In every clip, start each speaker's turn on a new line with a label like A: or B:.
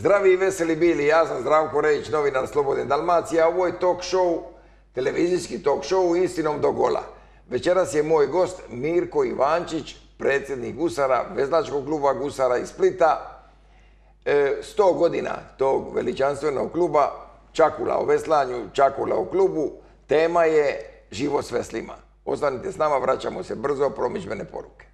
A: Zdravi i veseli bili, ja sam Zdravko Rejić, novinar Slobodne Dalmacije, a ovo je talk show, televizijski talk show Istinom do gola. Večeras je moj gost Mirko Ivančić, predsjednik Gusara, veslačkog kluba Gusara iz Splita. 100 godina tog veličanstvenog kluba, Čakula o veslanju, Čakula o klubu, tema je život s veslima. Ostanite s nama, vraćamo se brzo, promidžbene poruke.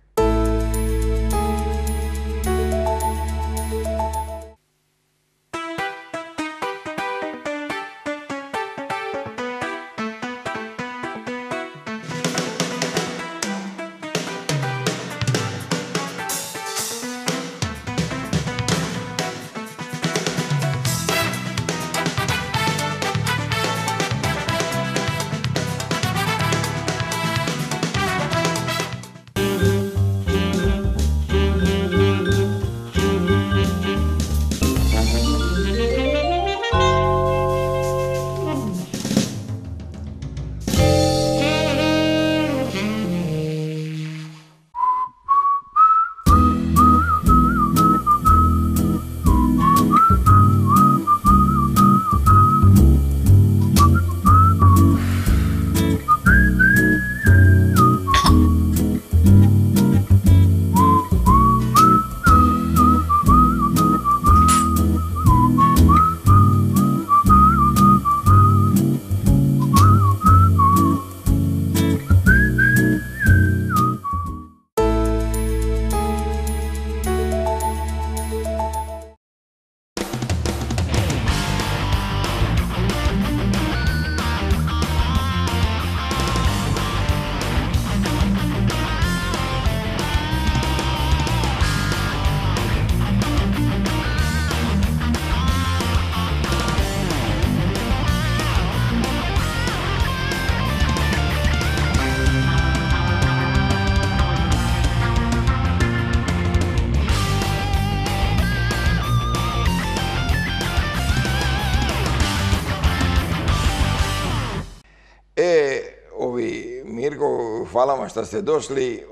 A: Mirko, hvala vam što ste došli.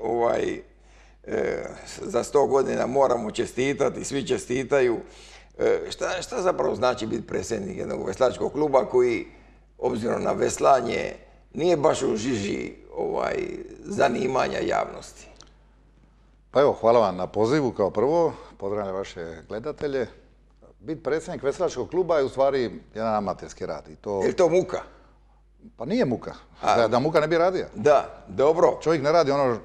A: Za 100 godina moramo čestitati, svi čestitaju. Šta zapravo znači biti predsjednik jednog veslačkog kluba koji, obzirom na veslanje, nije baš u žiži zanimanja javnosti?
B: Pa evo, hvala vam na pozivu kao prvo. Pozdravljam vaše gledatelje. Biti predsjednik veslačkog kluba je u stvari jedan amaterski rad.
A: Je li to muka?
B: Pa nije muka. Da muka ne bi radio.
A: Da, dobro.
B: Čovjek ne radi ono,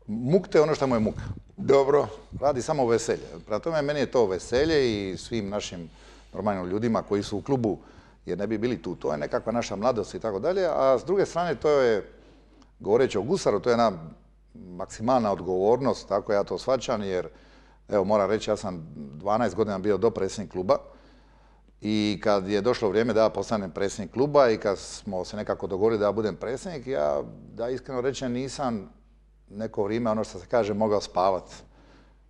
B: mukte ono što mu je muka.
A: Dobro.
B: Radi samo veselje. Prema tome, meni je to veselje i svim našim normalnim ljudima koji su u klubu, jer ne bi bili tu. To je nekakva naša mladost i tako dalje. A s druge strane, to je, govoreći o Gusaru, to je jedna maksimalna odgovornost, tako ja to shvaćam, jer, evo, moram reći, ja sam 12 godina bio dopredsjednik kluba. I kad je došlo vrijeme da ja postanem predsjednik kluba i kad smo se nekako dogovorili da ja budem predsjednik, ja, da iskreno rečem, nisam neko vrijeme, ono što se kaže, mogao spavati.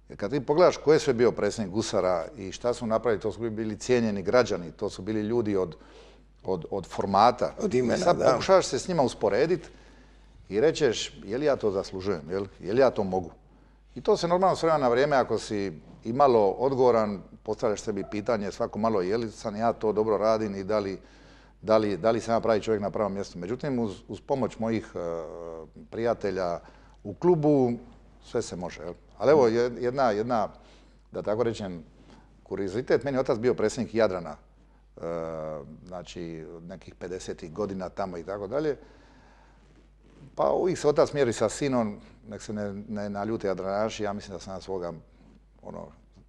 B: Jer kad ti pogledaš ko je sve bio predsjednik Gusara i šta su napravili, to su bili cijenjeni građani, to su bili ljudi od formata.
A: Od imena, da.
B: I sad pokušavaš se s njima usporediti i rećeš, je li ja to zaslužujem, je li ja to mogu? I to se normalno s vremena na vrijeme, ako si imalo odgovoran, postavljaš sebi pitanje svako malo je li sam ja to dobro radim i da li sam ja pravi čovjek na pravom mjestu. Međutim, uz pomoć mojih prijatelja u klubu sve se može. Ali evo jedna, da tako rečem, kuriozitet. Meni je otac bio predsjednik Jadrana, znači nekih 50. godina tamo i tako dalje. Pa uvijek se otac mjeri sa sinom, nek se ne naljute Jadranaši, ja mislim da sam na svoga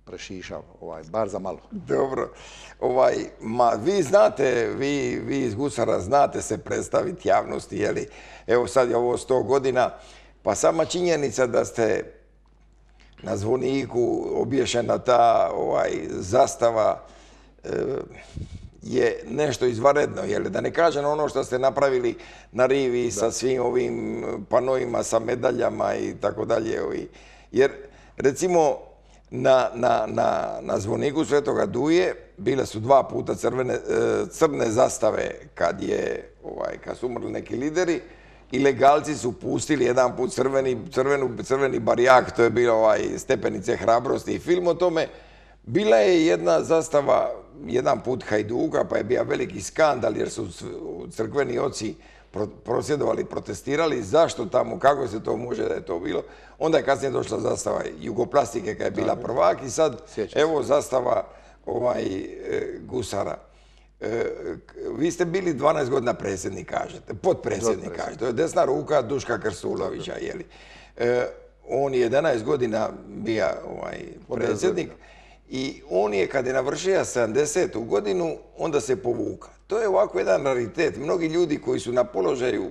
B: prešišao, bar za malo.
A: Dobro. Vi znate, vi iz Gusara znate se predstaviti javnosti, jeli? Evo sad je ovo 100 godina, pa sama činjenica da ste na zvoniku obješena ta zastava je nešto izvanredno, jel? Da ne kažem ono što ste napravili na rivi sa svim ovim panoima, sa medaljama i tako dalje. Jer, recimo, na zvoniku Svetoga Duje bile su 2 puta crne zastave kad su umrli neki lideri i legalci su pustili jedan put crveni barijak, to je bilo Stepenice hrabrosti i film o tome. Bila je jedna zastava, jedan put Hajduka, pa je bio veliki skandal jer su crkveni oci prosvjedovali, protestirali, zašto tamo, kako se to može da je to bilo. Onda je kasnije došla zastava Jugoplastike kad je bila prvak i sad evo zastava gusara. Vi ste bili 12 godina predsjednik, kažete, potpredsjednik, kažete. To je desna ruka Duška Krstulovića, jeli. On je 11 godina bio predsjednik i on je, kad je navršio 70. godinu, onda se povuka. To je ovako jedan raritet. Mnogi ljudi koji su na položaju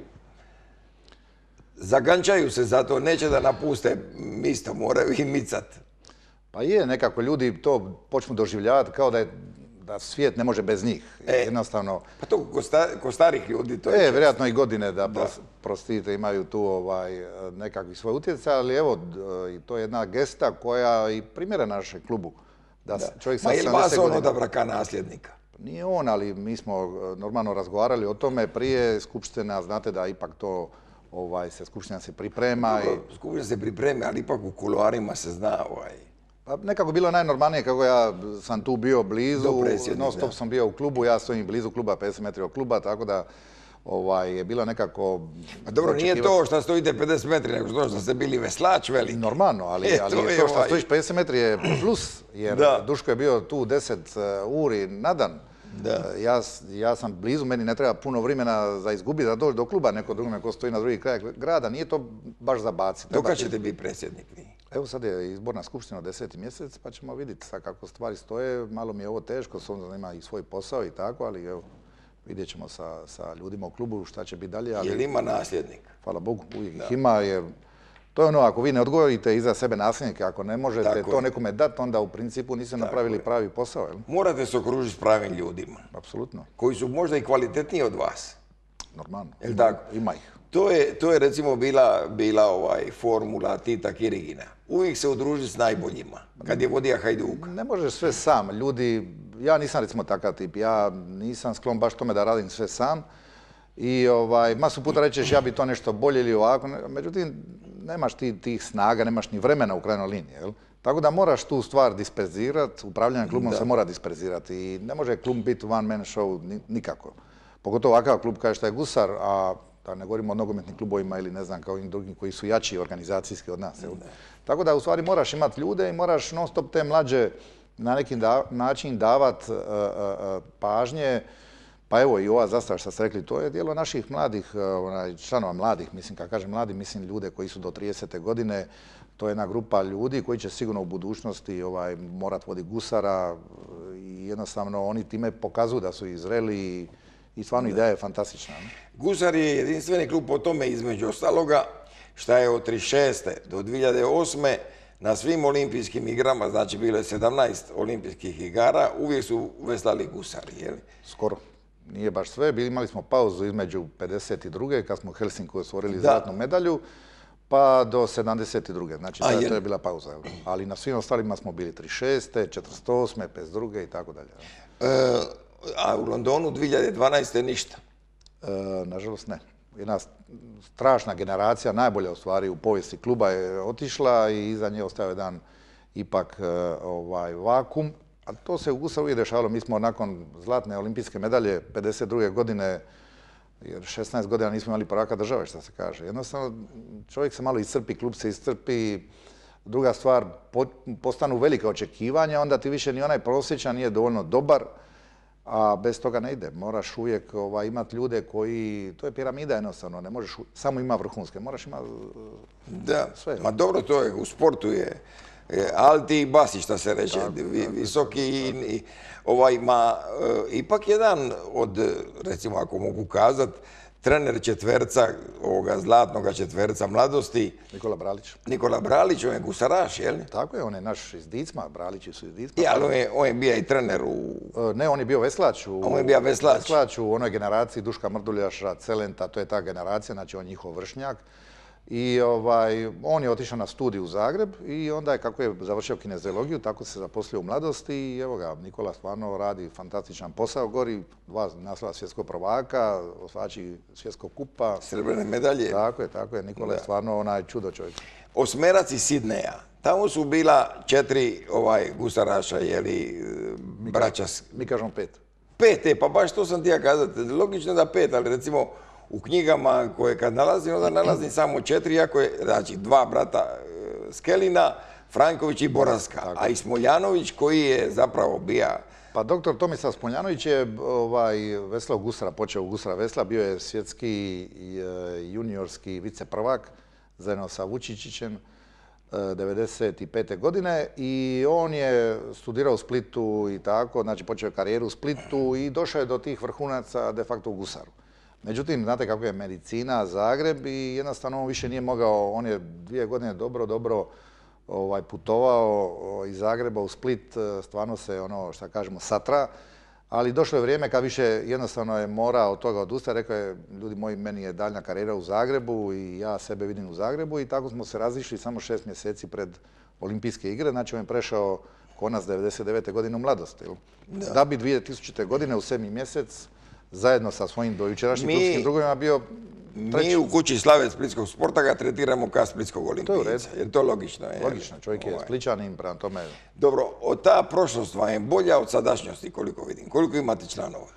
A: zagančaju se za to, neće da napuste misto, moraju i micat.
B: Pa je, nekako ljudi to počnu doživljavati kao da svijet ne može bez njih. Jednostavno...
A: Pa to ko starih ljudi to je...
B: Vjerojatno i godine da prostite imaju tu nekakvi svoj utjecaj, ali evo, to je jedna gesta koja i primjera našem klubu.
A: Ma je li vas on odabra kao nasljednika?
B: Nije on, ali mi smo normalno razgovarali o tome prije skupština, znate da ipak to se skupština se priprema.
A: Skupština se priprema, ali ipak u kuloarima se zna
B: Pa nekako bilo najnormalnije kako ja sam tu bio blizu, non stop sam bio u klubu, ja stojim blizu kluba, 50 metri od kluba, tako da je bilo nekako...
A: Pa dobro, nije to što stojite 50 metri, nego to što ste bili veslač veliki.
B: Normalno, ali to što stojiš 50 metri je plus, jer Duško je bio tu 10 uri na dan. Ja sam blizu, meni ne treba puno vremena za izgubiti da doći do kluba, neko drugome ko stoji na drugi kraj grada, nije to baš za baciti.
A: Dok ćete biti predsjednik?
B: Evo sad je izborna skupština 10. mjesec, pa ćemo vidjeti sad kako stvari stoje. Malo mi je ovo teško, s obzirom da ima i svoj posao i tako, ali evo, vidjet ćemo sa ljudima u klubu šta će biti dalje.
A: Je li ima nasljednik?
B: Hvala Bogu, uvijek ih ima. To je ono, ako vi ne odgovorite iza sebe nasljednike, ako ne možete to nekome dati, onda u principu niste napravili pravi posao.
A: Morate se okružiti s pravim ljudima.
B: Apsolutno.
A: Koji su možda i kvalitetniji od vas.
B: Normalno.
A: Ima ih. To je recimo bila formula Tita Kirigina. Uvijek se udruži s najboljima, kad je vodio Hajduk.
B: Ne možeš sve sam. Ljudi, ja nisam recimo takav tip, ja nisam sklon baš tome da radim sve sam. I masu puta rećeš ja bi to nešto bolje ili ovako, međutim nemaš ti tih snaga, nemaš ni vremena u krajnjoj liniji. Tako da moraš tu stvar disperzirati, upravljanje klubom se mora disperzirati i ne može klub biti one man show nikako. Pogotovo ovakav klub kao što je Gusar, a da ne govorimo o nogometnim klubovima ili ne znam kao i drugim koji su jači organizacijski od nas. Tako da u stvari moraš imati ljude i moraš non stop te mlađe na neki način davati pažnje. Pa evo i ova zastava što ste rekli, to je djelo naših mladih, članova mladih, mislim, kad kažem mladi, mislim ljude koji su do 30. godine, to je jedna grupa ljudi koji će sigurno u budućnosti morat voditi Gusara i jednostavno oni time pokazuju da su i zreli i stvarno ideja je fantastična.
A: Gusar je jedinstveni klub po tome između ostaloga šta je od 1936. do 2008. na svim olimpijskim igrama, znači bilo je 17 olimpijskih igara, uvijek su veslali Gusari, je li?
B: Skoro. Nije baš sve, imali smo pauzu između 52. kad smo u Helsinku osvojili zlatnu medalju, pa do 72. Znači to je bila pauza. Ali na svim ostalima smo bili 36. 48. 52. i tako dalje.
A: A u Londonu 2012. ništa?
B: Nažalost ne. Jedna strašna generacija, najbolja u stvari u povijesti kluba je otišla i iza nje ostao jedan ipak vakum. A to se u Gusaru uvijek dešavalo. Mi smo nakon zlatne olimpijske medalje 52. godine, jer 16 godina nismo imali prvaka države, što se kaže. Jednostavno, čovjek se malo iscrpi, klub se iscrpi. Druga stvar, postanu velike očekivanja, onda ti više ni onaj prosječan nije dovoljno dobar, a bez toga ne ide. Moraš uvijek imati ljude koji, to je piramida jednostavno, ne možeš samo imati vrhunske, moraš imati sve.
A: Ma dobro, to je, u sportu je Alti i Basi, šta se reče, visoki i ipak jedan od, recimo ako mogu kazat, trener četverca, ovoga zlatnoga četverca mladosti. Nikola Bralić, on je gusaraš, jel?
B: Tako je, on je naš iz Dicma, Bralići su iz Dicma.
A: Ali on je bio i trener u...
B: Ne, on je bio veslač.
A: On je bio veslač.
B: U onoj generaciji Duška Mrduljaša, Celenta, to je ta generacija, znači on je njihov vršnjak. I on je otišao na studij u Zagreb i onda je, kako je završio kineziologiju, tako se zaposlio u mladosti i evo ga, Nikola stvarno radi fantastičan posao, gori 2 naslova svjetskog prvaka, osvajači svjetskog kupa.
A: Srebrne medalje.
B: Tako je, Nikola je stvarno onaj čudo čovjek.
A: Osmerac iz Sidneja. Tamo su bila 4 gusaraša, jeli, braća.
B: Mi kažemo 5.
A: 5, pa baš to sam ti ja kazati. Logično da 5, ali recimo u knjigama koje kad nalazim, onda nalazim samo 4, iako je, znači, 2 brata Skelina, Franković i Boraska, a i Smoljanović koji je zapravo bija...
B: Pa doktor Tomislav Smoljanović je veslao gusara, počeo gusara vesla, bio je svjetski juniorski viceprvak zajedno sa Vučičićem 1995. godine i on je studirao u Splitu i tako, znači počeo je karijeru u Splitu i došao je do tih vrhunaca de facto u gusaru. Međutim, znate kako je medicina, Zagreb i jednostavno on više nije mogao, on je 2 godine dobro putovao iz Zagreba u Split, stvarno se ono što kažemo satra, ali došlo je vrijeme kad više jednostavno je morao od toga odustati, rekao je ljudi moji meni je daljnja karijera u Zagrebu i ja sebe vidim u Zagrebu i tako smo se razišli samo 6 mjeseci pred Olimpijske igre, znači on je prešao konac 99. godine u mladosti. Da bi 2000. godine u 7. mjesec zajedno sa svojim dojučerašnjim klubskim drugovima bio treći.
A: Mi u kući Slave splitskog sporta ga tretiramo kao splitskog olimpijca. Je to logično?
B: Logično, čovjek je Splićanin, prema tome...
A: Dobro, ta prošlost vam je bolja od sadašnjosti, koliko vidim. Koliko imate članova?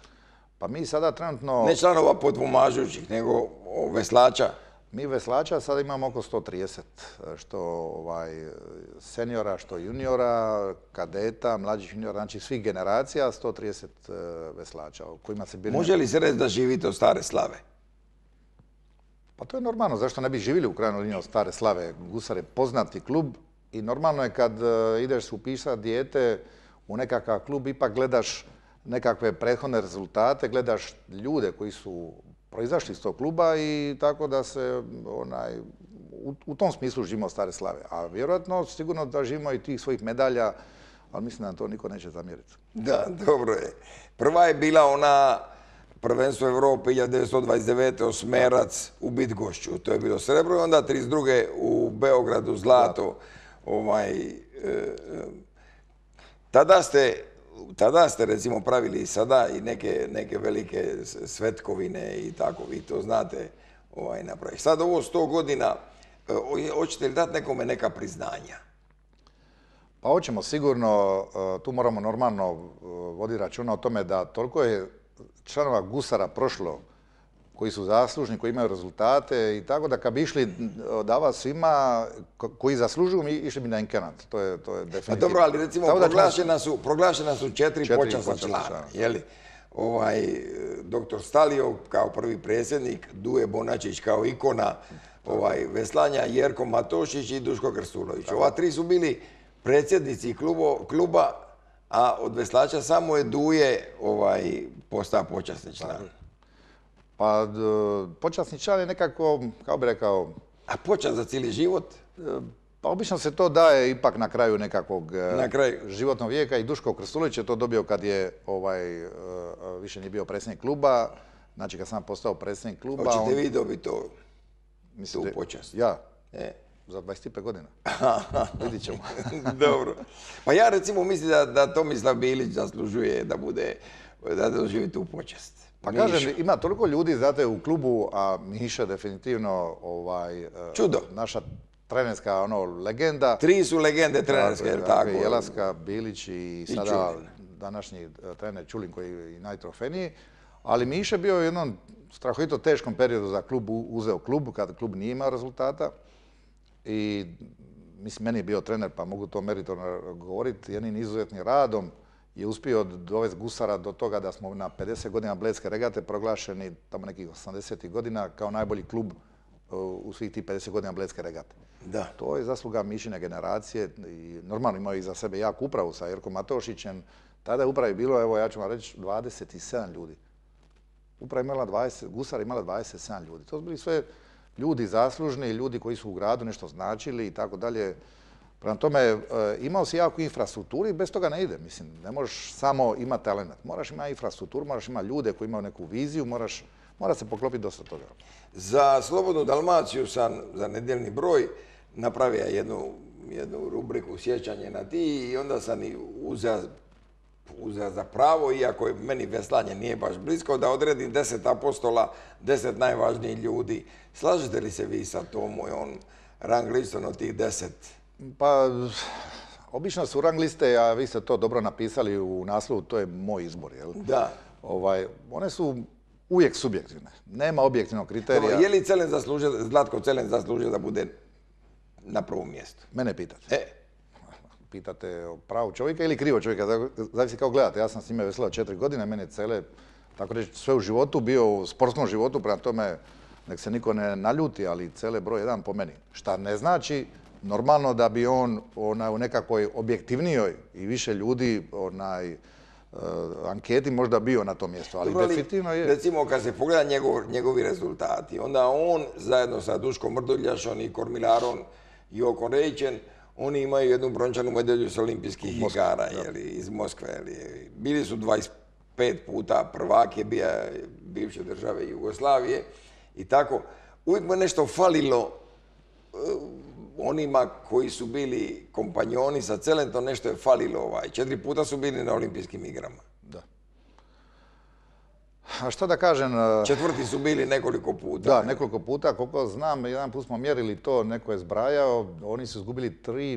B: Pa mi sada trenutno...
A: Ne članova podpomažućih, nego veslača.
B: Mi veslača sada imamo oko 130, što seniora, što juniora, kadeta, mlađih juniora, znači svih generacija, 130 veslača. Kojima se bili...
A: Može li se reći da živite od Stare Slave?
B: Pa to je normalno, zašto ne bi živjeli u krajnjoj liniji od Stare Slave? Gusar je poznati klub i normalno je kad ideš upisati dijete u nekakav klub, ipak gledaš nekakve prethodne rezultate, gledaš ljude koji su proizašli iz tog kluba i tako da se u tom smislu živimo od Stare Slave. A vjerojatno sigurno da živimo i tih svojih medalja, ali mislim da nam to niko neće zamjeriti.
A: Da, dobro je. Prva je bila ona prvenstvo Europe 1929. Osmerac u Bydgoszczu. To je bilo srebro i onda 32. u Beogradu zlato. Tada ste recimo pravili i sada i neke velike svetkovine i tako, vi to znate napraviti. Sad ovo 100 godina, hoćete li dati nekome neka priznanja?
B: Pa hoćemo sigurno, tu moramo normalno voditi računa o tome da toliko je članova gusara prošlo koji su zaslužni, koji imaju rezultate i tako da kad bi išli davati svima koji zaslužuju, išli bi na inkenat. To je definitivno.
A: Dobro, ali recimo proglašena su 4 počasna člana. Doktor Stalio kao prvi predsjednik, Duje Bonačić kao ikona veslanja, Jerko Matošić i Duško Krstulović. Ova 3 su bili predsjednici kluba, a od veslača samo je Duje postao počasni član.
B: Pa počasni član je nekako, kako bi rekao...
A: A počast za cijeli život?
B: Pa obično se to daje ipak na kraju nekakvog životnog vijeka i Duško Krstulović je to dobio kad je više nije bio predsjednik kluba. Znači kad sam postao predsjednik kluba...
A: Hoćete vi dobiti tu počast?
B: Ja? Za 25 godina. Vidit ćemo.
A: Dobro. Pa ja recimo mislim da Tomislav Bilić zaslužuje da doživi tu počast.
B: Pa kažem, ima toliko ljudi, znate, u klubu, a Miša definitivno
A: čudo.
B: Naša trenerska legenda.
A: 3 su legende trenerske, je li tako?
B: Jelaska, Bilić i sada današnji trener Čulin koji je i najtrofejniji. Ali Miša bio u jednom strahovito teškom periodu za klub, uzeo klub, kada klub nije imao rezultata. I mislim, meni je bio trener, pa mogu to meritorno govoriti, jednim izuzetnim radom je uspio dovesti gusara do toga da smo na 50 godina Blejske regate proglašeni tamo nekih 80. godina kao najbolji klub u svih tih 50 godina Blejske regate.
A: Da.
B: To je zasluga Mišine generacije i normalno imao iza sebe jaku upravu sa Jerkom Matošićem. Tada je upravi bilo, evo ja ću vam reći, 27 ljudi. Uprava imala 20, gusara imala 27 ljudi. To su bili sve ljudi zaslužni, ljudi koji su u gradu nešto značili i tako dalje. Prema tome, imao si jaku infrastrukturu i bez toga ne ide. Mislim, ne možeš samo imati talent. Moraš imati infrastrukturu, moraš imati ljude koji imaju neku viziju, moraš Mora se poklopiti dosta toga.
A: Za Slobodnu Dalmaciju sam za nedjeljni broj napravio jednu rubriku sjećanje na ti i onda sam i uzeo za pravo, iako je meni veslanje nije baš blisko, da odredim 10 apostola, 10 najvažnijih ljudi. Slažete li se vi sa tom mojom rang listom od tih 10?
B: Pa, obično su rang liste, a vi ste to dobro napisali u naslovu, to je moj izbor, jel?
A: Da.
B: One su uvijek subjektivne. Nema objektivnog kriterija.
A: Dobro, je li Zlatko Celen zaslužio da bude na prvom mjestu?
B: Mene pitate. Pitate o pravu čovjeka ili krivo čovjeka, zavisi kako gledate. Ja sam s njime veslao 4 godine, mene Cele, tako reći, sve u životu, bio u sportskom životu, prema tome nek se niko ne naljuti, ali Cele broj 1 po meni. Šta ne znači normalno da bi on u nekakvoj objektivnijoj i više ljudi anketi možda bio na tom mjestu, ali definitivno je.
A: Recimo, kad se pogleda njegovi rezultati, onda on zajedno sa Duškom Mrduljašom i Kormilarom i Okon Rejićem, oni imaju jednu brončanu medalju s olimpijskih igara iz Moskve. Bili su 25 puta prvake bivše države Jugoslavije i tako. Uvijek mu nešto falilo onima koji su bili kompanjoni sa Celentom, nešto je falilo. 4 puta su bili na olimpijskim igrama.
B: Da. A šta da kažem?
A: Četvrti su bili nekoliko puta.
B: Da, nekoliko puta. Koliko znam, jedan put smo mjerili to, neko je zbrajao, oni su izgubili 3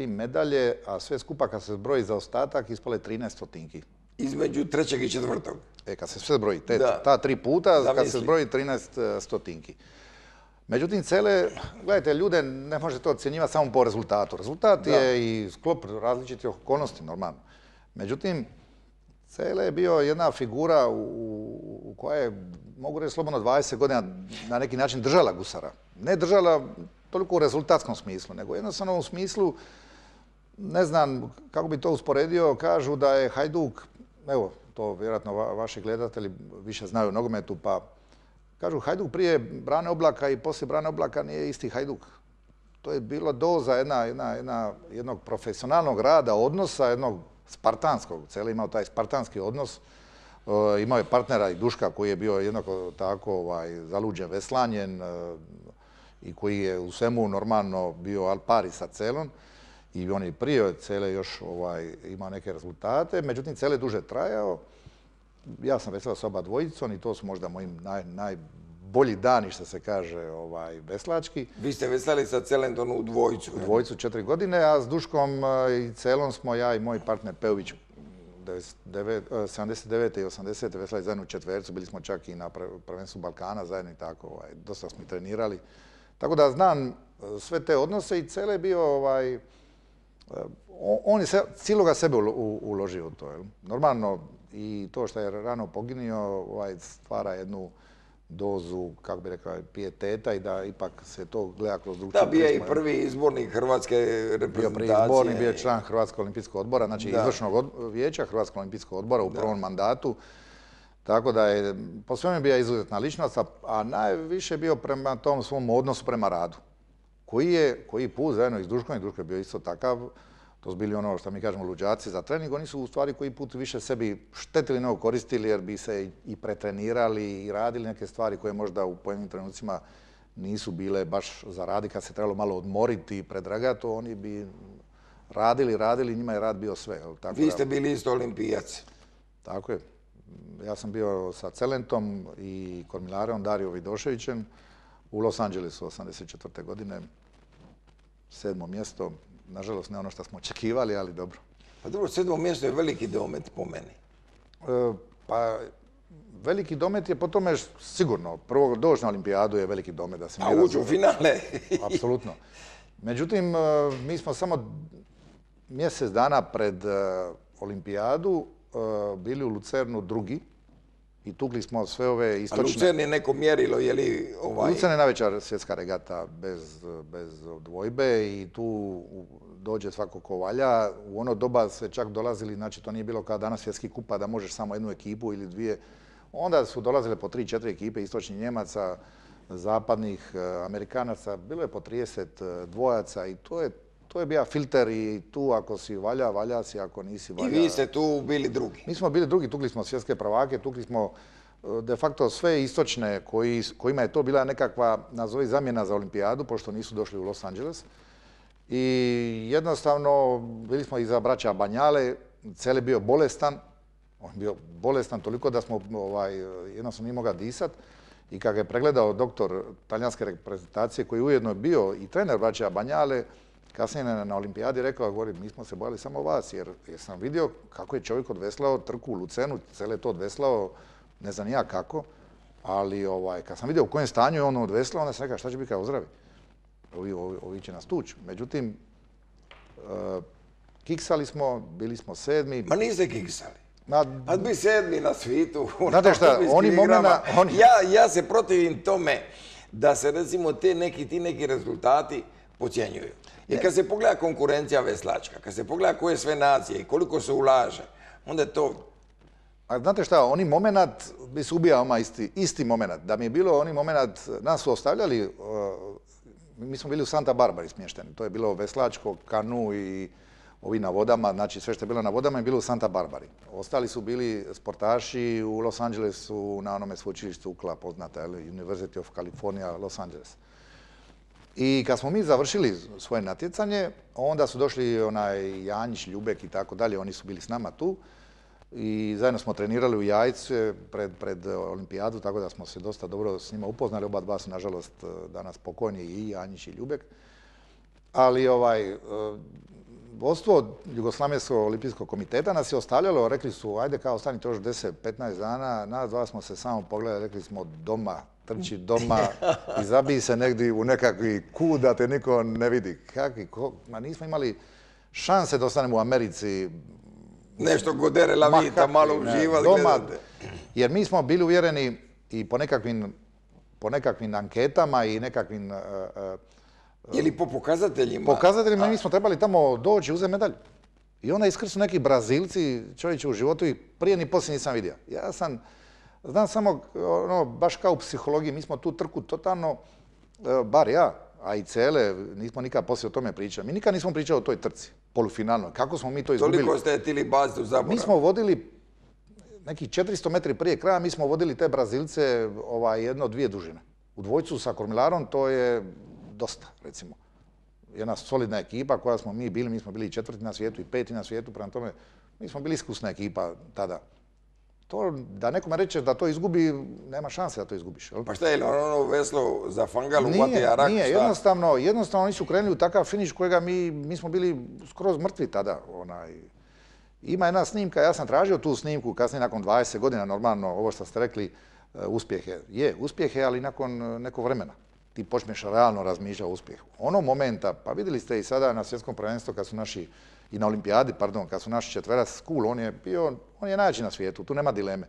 B: medalje, a sve skupa kad se zbroji za ostatak ispale 13 stotinki.
A: Između 3. i 4.
B: Kad se sve zbroji, ta 3 puta, kad se zbroji 13 stotinki. Međutim, Cele, gledajte, ljude ne može to ocjenjivati samo po rezultatu. Rezultat je i sklop različitih okolnosti, normalno. Međutim, Cele je bio jedna figura u koja je, mogu reći slobodno, 20 godina na neki način držala gusara. Ne držala toliko u rezultatskom smislu, nego jednostavno u smislu, ne znam kako bi to usporedio, kažu da je Hajduk, evo, to vjerojatno vaši gledatelji više znaju o nogometu, pa kažu Hajduk prije Brane Oblaka i poslije Brane Oblaka nije isti Hajduk. To je bila doza jednog profesionalnog rada, odnosa, jednog spartanskog. Cele imao taj spartanski odnos. Imao je partnera i Duška koji je bio jednako tako zaluđen veslanjen i koji je u svemu normalno bio al pari sa Celom. I on je prije Cele još imao neke rezultate. Međutim, Cele duže trajao. Ja sam veslao s oba dvojicom i to su možda moji najbolji dani, što se kaže, veslački.
A: Vi ste veslali sa Celentom u dvojicu.
B: U dvojicu 4 godine, a s Duškom i Celom smo ja i moj partner Pejović 79. i 80. veslali zajedno u četvercu, bili smo čak i na prvenstvu Balkana zajedno i tako, dosta smo i trenirali. Tako da znam sve te odnose i Cele je bio, on je cijeloga sebe uložio u to. Normalno, i to što je rano poginio stvara jednu dozu, kako bi rekao, pijeteta i da ipak se to gleda kroz drugčiju
A: prizmu. Da, bio je i prvi izbornik Hrvatske reprezentacije.
B: Bio prvi izbornik, bio je član Hrvatskog olimpijskog odbora, znači izvršnog vijeća Hrvatskog olimpijskog odbora u prvom mandatu. Tako da je po svemu bio izuzetna ličnost, a najviše bio prema tom svom odnosu prema radu. Koji put zajedno i s Duškom, i Duško je bio isto takav. To su bili ono što mi kažemo luđaci za trening, oni su u stvari koji put više sebi štetili nego koristili jer bi se i pretrenirali i radili neke stvari koje možda u pojedinim trenucima nisu bile baš za radi kad se trebalo malo odmoriti i predragati, oni bi radili, njima je rad bio sve.
A: Vi ste bili isto olimpijac.
B: Tako je. Ja sam bio sa Celentom i Kormilarom, Dario Vidoševićem u Los Angelesu 1984. godine, 7. mjesto. Nažalost, ne ono što smo očekivali, ali dobro.
A: Pa drugo, 7. mjesto je veliki domet po meni.
B: Pa, veliki domet je po tome sigurno. Prvo, doći na olimpijadu je veliki domet.
A: A ući u finale.
B: Apsolutno. Međutim, mi smo samo mjesec dana pred olimpijadu bili u Lucernu drugi i tukli smo sve ove istočne...
A: A Lucern je neko mjerilo, je li
B: Lucern je najveća svjetska regata bez dvojbe i tu dođe svako ko valja. U ono doba se čak dolazili, znači to nije bilo kao danas svjetski kupa da možeš samo jednu ekipu ili dvije. Onda su dolazile po 3-4 ekipe istočnih Njemaca, zapadnih Amerikanaca. Bilo je po 30 dvojaca i to je bio filter i tu ako si valja si, ako nisi valja.
A: I vi ste tu bili drugi?
B: Mi smo bili drugi, tukli smo svjetske prvake, tukli smo de facto sve istočne kojima je to bila nekakva, nazovi, zamjena za olimpijadu, pošto nisu došli u Los Angeles. I jednostavno bili smo iza braća Banjale, Cele bio bolestan, on bio bolestan toliko da smo jednostavno nije mogao disat. I kad je pregledao doktor talijanske reprezentacije, koji ujedno je bio i trener braća Banjale, kasnije na olimpijadi rekao, govori, mi smo se bojali samo vas, jer sam vidio kako je čovjek odveslao trku u Lucenu, Cele to odveslao, ne znam ja kako, ali kad sam vidio u kojem stanju je on odveslao, onda sam rekao, šta će biti kad ozdravi? Ovi će nas tući. Međutim, kiksali smo, bili smo 7.
A: Ma niste kiksali. A bi 7. na svijetu.
B: Znate šta, oni momena...
A: Ja se protivim tome da se recimo ti neki rezultati podcjenjuju. Jer kad se pogleda konkurencija veslačka, kad se pogleda koje sve nacije i koliko se ulaže, onda je to...
B: A znate šta, oni moment bi se ubijao isti moment. Da mi je bilo oni moment, nas su ostavljali, mi smo bili u Santa Barbari smješteni. To je bilo veslačko, kanu i ovi na vodama, znači sve što je bilo na vodama je bilo u Santa Barbari. Ostali su bili sportaši u Los Angelesu, na onome sveučilištu UCLA poznata, University of California, Los Angeles. I kad smo mi završili svoje natjecanje, onda su došli onaj Janjić, Ljubek i tako dalje, oni su bili s nama tu. I zajedno smo trenirali u Jajcu pred olimpijadu, tako da smo se dosta dobro s njima upoznali. Oba dva su, nažalost, danas pokojni, i Janjić i Ljubek. Ali vodstvo Jugoslavenskog olimpijskog komiteta nas je ostavljalo, rekli su, ajde kao ostanite još 10-15 dana, nas dva smo se samo pogledali, rekli smo doma, trči doma i zabij se negdje u nekakvi kut da te niko ne vidi. Ma nismo imali šanse da ostanemo u Americi.
A: Nešto godere la vita, malo uživati, gledate.
B: Jer mi smo bili uvjereni i po nekakvim anketama i nekakvim...
A: Je li po pokazateljima?
B: Pokazateljima, mi smo trebali tamo doći i uzeti medalju. I onda iskrsnu neki Brazilci, čovječe, u životu i prije ni poslije nisam vidio. Ja znam samo, baš kao u psihologiji, mi smo tu trku totalno, bar ja, a i Cele, nismo nikad poslije o tome pričali. Mi nikad nismo pričali o toj trci, polufinalno. Kako smo mi to izgubili?
A: Toliko ste tili baciti u zaborav.
B: Mi smo vodili, nekih 400 metri prije kraja, mi smo vodili te Brazilce 1-2 dužine. U dvojcu sa kormilarom to je dosta, recimo. Jedna solidna ekipa koja smo mi bili, mi smo bili 4. na svijetu i 5. na svijetu, prema tome mi smo bili iskusna ekipa tada. To, da nekome reče da to izgubi, nema šanse da to izgubiš.
A: Pa šta je, ono veslo za fangalu, uvati arak?
B: Nije, jednostavno oni su krenuli u takav finiš kojega mi smo bili skroz mrtvi tada. Ima jedna snimka, ja sam tražio tu snimku, kasnije nakon 20 godina, normalno, ovo što ste rekli, uspjehe, ali nakon nekog vremena. Ti počneš realno razmišljati o uspjehu. Ono momenta, pa vidjeli ste i sada na svjetskom prvenstvu kad su naši, i na olimpijadi, pardon, kad su naši četverac Skul, on je najjači na svijetu, tu nema dileme.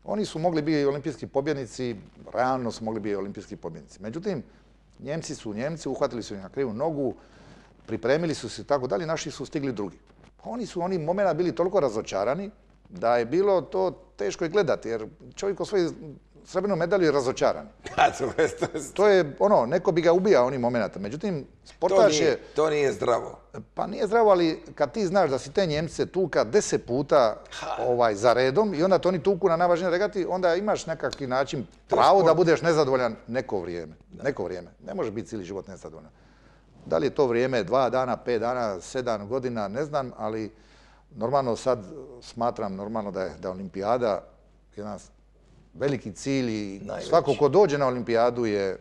B: Oni su mogli biti olimpijski pobjednici, realno su mogli biti olimpijski pobjednici. Međutim, Njemci su Njemci, uhvatili su ih na krivu nogu, pripremili su se i tako dalje, naši su stigli drugi. Oni su onih momenta bili toliko razočarani da je bilo to teško i gledati, jer čovjek osvoji srebrnu medalju je razočaran. To je neko bi ga ubijao onih momenta. Međutim, sportaš je...
A: To nije zdravo.
B: Pa nije zdravo, ali kad ti znaš da si te Njemce tuka 10 puta za redom i onda to oni tuku na najvažnijoj regati, onda imaš nekakvi način pravo da budeš nezadovoljan neko vrijeme. Neko vrijeme. Ne može biti cijeli život nezadovoljan. Da li je to vrijeme 2 dana, 5 dana, 7 godina, ne znam, ali normalno sad smatram normalno da je olimpijada jedan veliki cilj i svako ko dođe na olimpijadu je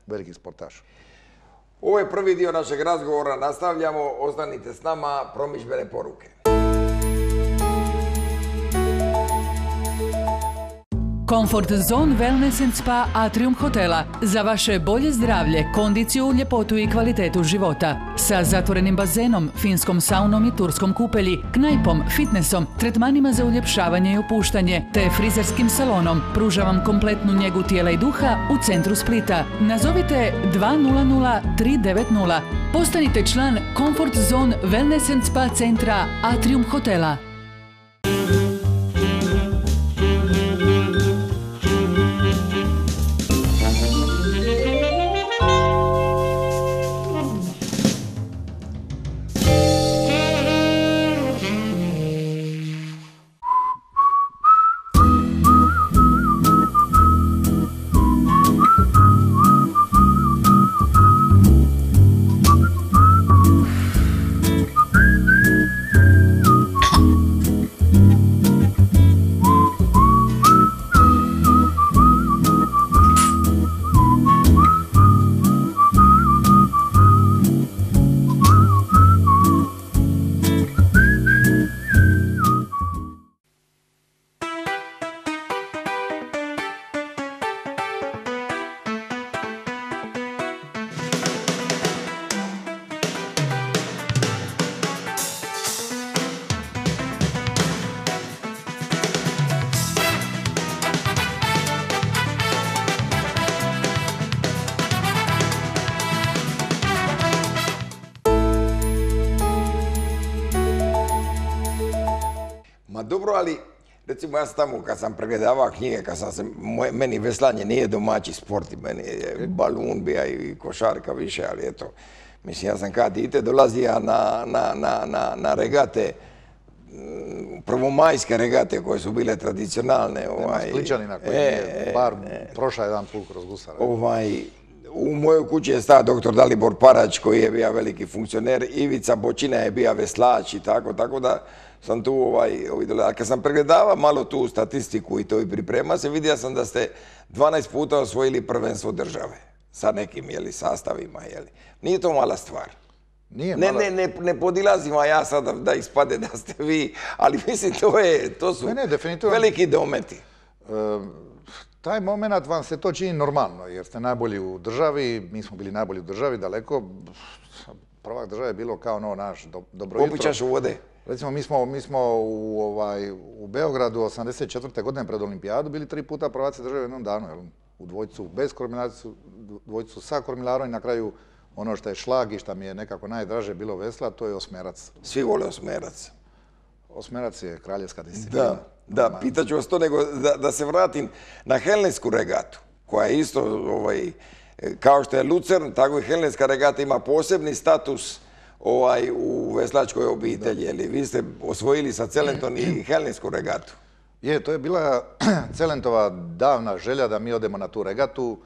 B: veliki sportaš.
A: Ovo je prvi dio našeg razgovora, nastavljamo, ostanite s nama, promidžbene poruke.
C: Comfort Zone Wellness and Spa Atrium hotela. Za vaše bolje zdravlje, kondiciju, ljepotu i kvalitetu života. Sa zatvorenim bazenom, finskom saunom i turskom kupelji, knajpom, fitnessom, tretmanima za uljepšavanje i opuštanje, te frizerskim salonom. Pruža vam kompletnu njegu tijela i duha u centru Splita. Nazovite 200 390. Postanite član Comfort Zone Wellness and Spa centra Atrium hotela.
A: dobro, ali recimo ja sam tamo kad sam pregledavao knjige, meni veslanje nije domaći sport, meni je balun bija i košarka više, ali eto, mislim ja sam kad dite dolazio na regate, prvomajske regate koje su bile tradicionalne.
B: Nema Spličanina koji je bar prošao jedan put kroz gusara.
A: U mojoj kući je stao doktor Dalibor Parać koji je bio veliki funkcioner, Ivica Bočina je bio veslač i tako da sam tu a kad sam pregledavao malo tu statistiku i to i priprema se, vidio sam da ste 12 puta osvojili prvenstvo države sa nekim sastavima. Nije to mala stvar. Ne podilazim ja sada da ispade da ste vi, ali mislim to su veliki dometi.
B: Taj moment vam se to čini normalno, jer ste najbolji u državi, mi smo bili najbolji u državi, daleko. Prvak države je bilo kao naš dobro jutro.
A: Popićaš u vode.
B: Recimo, mi smo u Beogradu 1984. godine pred olimpijadu bili 3 puta prvaci države u jednom danu. U dvojcu bez kormilacije, dvojcu sa kormilarom i na kraju ono što je šlag i što mi je nekako najdraže bilo vesla, to je osmerac.
A: Svi vole osmerac.
B: Osmerac je kraljevska disciplina.
A: Da, pitaću vas to, nego da se vratim na Helensku regatu, koja je isto, kao što je Lucern, tako i Helenska regata ima posebni status u veslačkoj obitelji. Vi ste osvojili sa Celentom i Helensku regatu.
B: To je bila Celentova davna želja da mi odemo na tu regatu,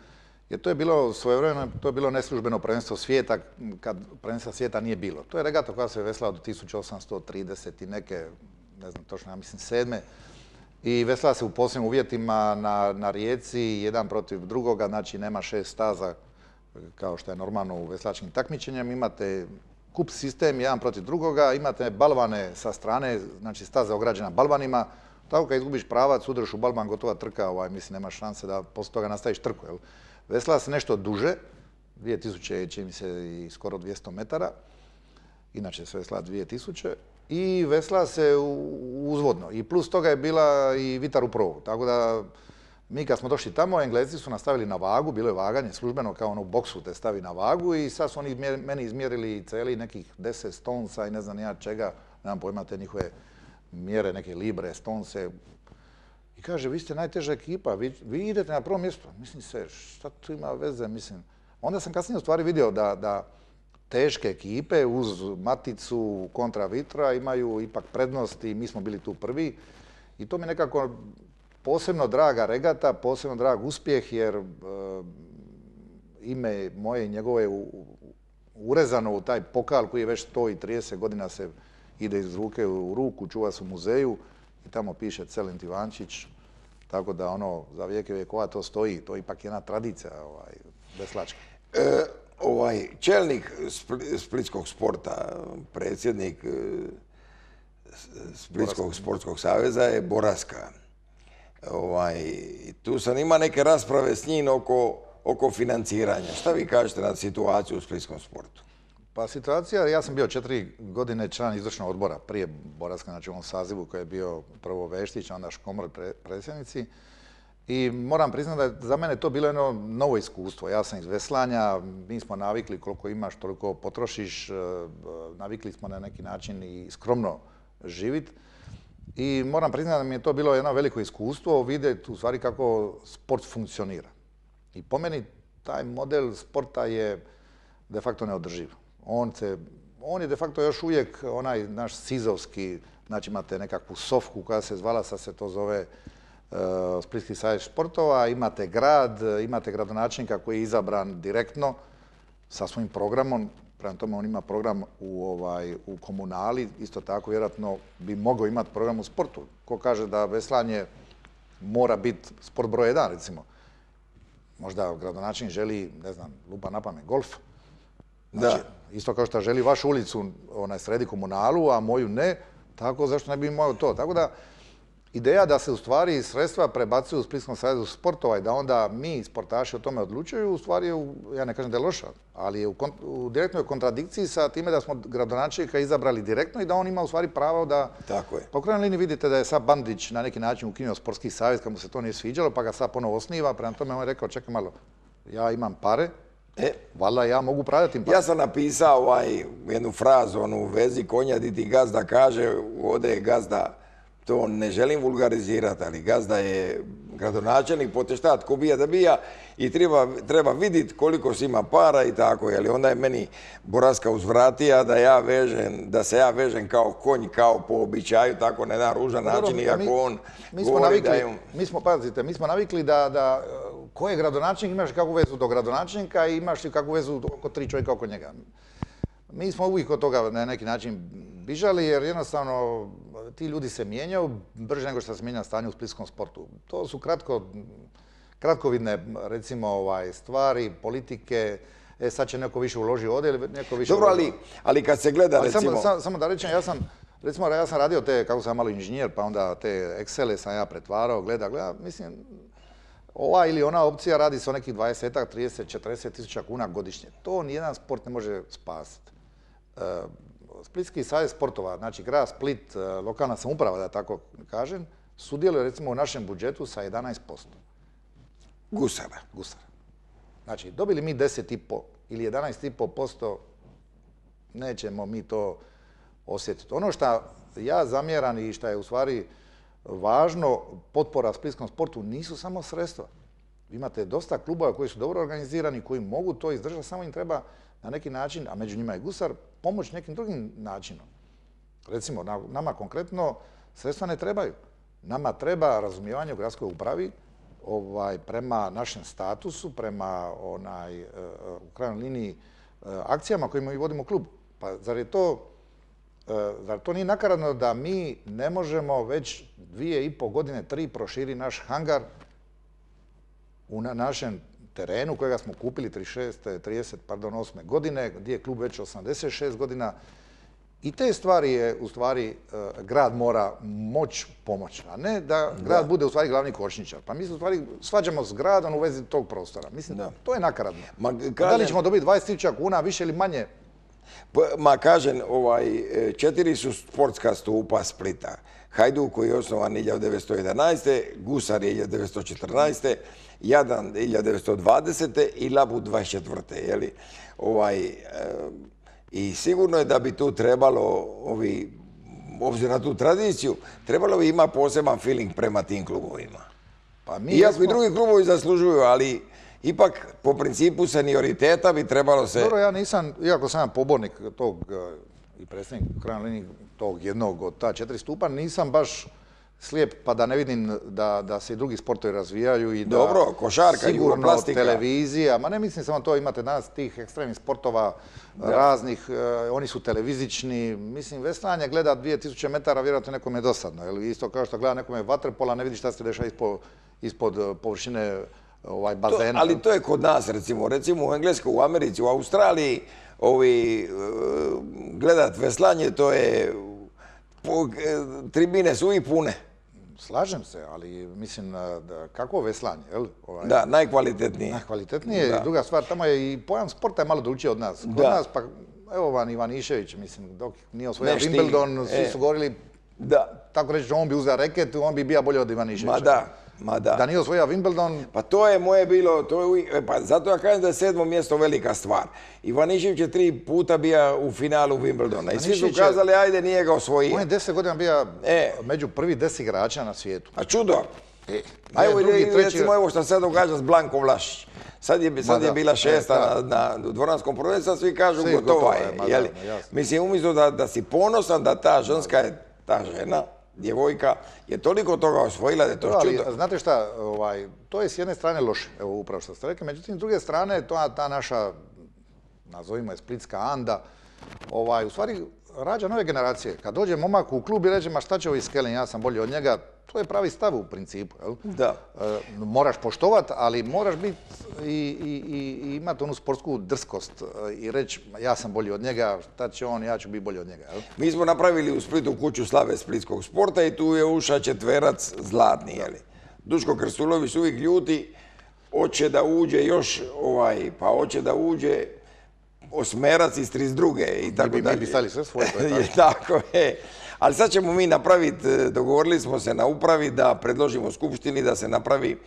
B: jer to je bilo svojevremeno, to je bilo neslužbeno prvenstvo svijeta, kad prvenstva svijeta nije bilo. To je regata koja se veslala do 1830 i neke, ne znam točno, ja mislim 7. I veslala se u posebnim uvjetima na rijeci, jedan protiv drugoga, znači nema 6 staza kao što je normalno u veslačkim takmičenjem. Imate kup sistem, jedan protiv drugoga, imate balvane sa strane, znači staza ograđena balvanima. Tako kad izgubiš pravac, udreš u balvan, gotova trka, mislim, nema šanse da poslije toga nastaviš trku. Veslala se nešto duže, 2000, čini mi se i skoro 200 metara, inače se vesla 2000, i vesla se uzvodno. I plus toga je bila i vitar u provu. Tako da mi kad smo došli tamo, Englezi su nastavili na vagu, bilo je vaganje službeno kao u boksu te stavi na vagu i sad su oni meni izmjerili celi nekih 10 stonsa i ne znam ja čega, nemam pojma te njihove mjere, neke libre, stonse. I kaže, vi ste najteža ekipa, vi idete na prvo mjesto. Mislim se, šta tu ima veze, mislim. Onda sam kasnije u stvari vidio da teške ekipe uz Maticu kontra Vitra imaju ipak prednost i mi smo bili tu prvi. I to mi je nekako posebno draga regata, posebno drag uspjeh, jer ime moje i njegove urezano u taj pokal koji je već 130 godina se ide iz ruke u ruku, čuva se u muzeju i tamo piše Celent Ivančić, tako da za vijeke vjekova to stoji, to je ipak jedna tradicija veslačka.
A: Čelnik splitskog sporta, predsjednik Splitskog sportskog saveza je Boraska. Tu sam ima neke rasprave s njim oko financiranja. Šta vi kažete na situaciju u splitskom sportu?
B: Pa situacija, ja sam bio 4 godine član izvršnog odbora prije Boraska, znači u ovom sazivu koji je bio prvo Veštić, onda Škomor predsjednici. I moram priznati da je za mene to bilo jedno novo iskustvo. Ja sam iz veslanja, mi smo navikli koliko imaš, toliko potrošiš, navikli smo na neki način i skromno živjeti. I moram priznati da mi je to bilo jedno veliko iskustvo, vidjeti u stvari kako sport funkcionira. I po meni taj model sporta je de facto neodrživ. On je de facto još uvijek onaj naš sizovski, znači imate nekakvu sofku koja se zvala, sad se to zove Splitski savez športova, imate grad, imate gradonačelnika koji je izabran direktno sa svojim programom, prema tome on ima program u komunali, isto tako vjerojatno bi mogao imati program u sportu. Ko kaže da veslanje mora biti sport broj 1, recimo. Možda gradonačelnik želi, ne znam, lupa na pamet, golf. Znači, isto kao što želi vašu ulicu sredi komunalu, a moju ne, tako zašto ne bi imao to. Tako da, ideja da se u stvari sredstva prebacuju u Splitskom savezu sportova i da onda mi, sportaši, o tome odlučuju, u stvari, ja ne kažem da je loša, ali je u direktnoj kontradikciji sa time da smo gradonačelnika izabrali direktno i da on ima u stvari pravo da...
A: Tako je.
B: Po krajnjoj liniji vidite da je sad Bandić na neki način ukinuo sportski savez kad mu se to nije sviđalo, pa ga sad ponovo osniva, prema tome on je rekao, čekaj malo, ja imam pare, valjda ja mogu upravljati tim parama.
A: Ja sam napisao jednu frazu u vezi konja di ti gazda kaže, ode je gazda to ne želim vulgarizirati, ali gazda je gradonačelnik, poteštat, ko bija da bija i treba vidjeti koliko si ima para i tako, jer onda je meni Boraska uzvratija da se ja vežem kao konj, kao po običaju, tako na jedan ružan način, iako on govori da je...
B: Mi smo navikli da ko je gradonačelnik, imaš kakvu vezu do gradonačelnika i imaš i kakvu vezu oko 3 čovjeka oko njega. Mi smo uvijek od toga na neki način bižali jer jednostavno ti ljudi se mijenjaju brže nego što se mijenja stanje u splitskom sportu. To su kratkovidne recimo stvari, politike, sad će neko više uloži ovdje ili neko više
A: uloži. Dobro, ali kad se gleda recimo...
B: Samo da rečem, ja sam radio te, kako sam malo inženjer, pa onda te Excele sam ja pretvarao, gleda, mislim, ova ili ona opcija radi se o nekih 20, 30, 40 tisuća kuna godišnje. To nijedan sport ne može spasiti. Splitski savez sportova, znači grad Split, lokalna samouprava, da tako kažem, sudjeluje recimo u našem budžetu sa 11%.
A: Gusara.
B: Znači, dobili mi 10,5 ili 11,5%, nećemo mi to osjetiti. Ono što ja zamjeram i što je u stvari važno, potpora splitskom sportu nisu samo sredstva. Imate dosta klubova koji su dobro organizirani, koji mogu to izdržati, samo im treba na neki način, a među njima je Gusar, pomoći nekim drugim načinom. Recimo, nama konkretno sredstva ne trebaju. Nama treba razumijevanje u gradskoj upravi prema našem statusu, prema u krajnjoj liniji akcijama kojima mi vodimo klub. Pa zar to nije nakaradno da mi ne možemo već 2,5 godine, 3 proširi naš hangar u našem terenu kojega smo kupili 38. godine, gdje je klub već 86 godina. I te stvari je, u stvari, grad mora moći pomoći, a ne da grad bude u stvari glavni kočničar. Pa mi se u stvari svađamo s gradom u vezi tog prostora. Mislim, to je nakaradno. Da li ćemo dobiti 20.000 kuna više ili manje?
A: Ma kažem, 4 su sportska stupa Splita. Hajduk koji je osnovan 1911. Gusar je 1914. Jadran 1920. i Labud 24. I sigurno je da bi tu trebalo, obzirom na tu tradiciju, trebalo bi imati poseban feeling prema tim klubovima. Iako i drugi klubovi zaslužuju, ali ipak po principu senioriteta bi trebalo se...
B: Dobro, ja nisam, iako sam pobornik tog i predsjednik u krajnjoj liniji tog jednog od ta 4 stupa, nisam baš slijep pa da ne vidim da se i drugi sportovi razvijaju i da...
A: Dobro, košarka,
B: sigurno televizija, ma ne mislim samo to, imate danas tih ekstremnih sportova raznih, oni su televizični, mislim, veslanje gleda 2000 metara, vjerojatno nekom je dosadno, isto kao što gleda nekome vaterpola, ne vidi šta se dešava ispod površine bazena.
A: Ali to je kod nas, recimo u Engleskoj, u Americi, u Australiji, gledat veslanje, to je, tribine su i pune.
B: Slažem se, ali mislim, kako veslanje, jel?
A: Da, najkvalitetnije.
B: Najkvalitetnije, druga stvar, tamo je i pojam sporta je malo drugčiji od nas. Kod nas, pa evo van Ivanišević, mislim, dok nije osvojio Wimbledon, svi su govorili, tako reći, on bi uzeo reket, on bi bio bolje od Ivaniševića. Da nije osvojio Wimbledon...
A: Pa to je moje bilo, pa zato ja kažem da je 7. mjesto velika stvar. Ivanišević je 3 puta bio u finalu Wimbledona i svi su kazali, ajde, nije ga osvojio.
B: On je 10 godina bio među prvi 10 igrača na svijetu.
A: A čudo. A evo recimo ovo što se događa s Blankom Vlašić. Sad je bila 6. na dvoranskom prvenstvu, svi kažu gotova je. Mislim, umjesto da si ponosan da ta ženska je, ta žena, djevojka je toliko toga osvojila da je to čudo.
B: Znate šta, to je s jedne strane loše, evo upravo što ste rekli, međutim s druge strane ta naša, nazovimo je splitska Anda, u stvari rađa nove generacije. Kad dođe momak u klub i reče, ma šta će ovi Skelin, ja sam bolji od njega, to je pravi stav u principu.
A: Da.
B: Moraš poštovat, ali moraš biti i imati onu sportsku drskost i reći, ja sam bolji od njega, šta će on, ja ću biti bolji od njega.
A: Mi smo napravili u Splitu kuću slave splitskog sporta i tu je ušao četverac zlatni. Duško Krstulović uvijek ljuti, hoće da uđe još, pa hoće da uđe osmerac iz 32. i tako dalje.
B: Mi bi stali sve svoje.
A: Tako je. Ali sad ćemo mi napraviti, dogovorili smo se na upravi da predložimo skupštini da se napravi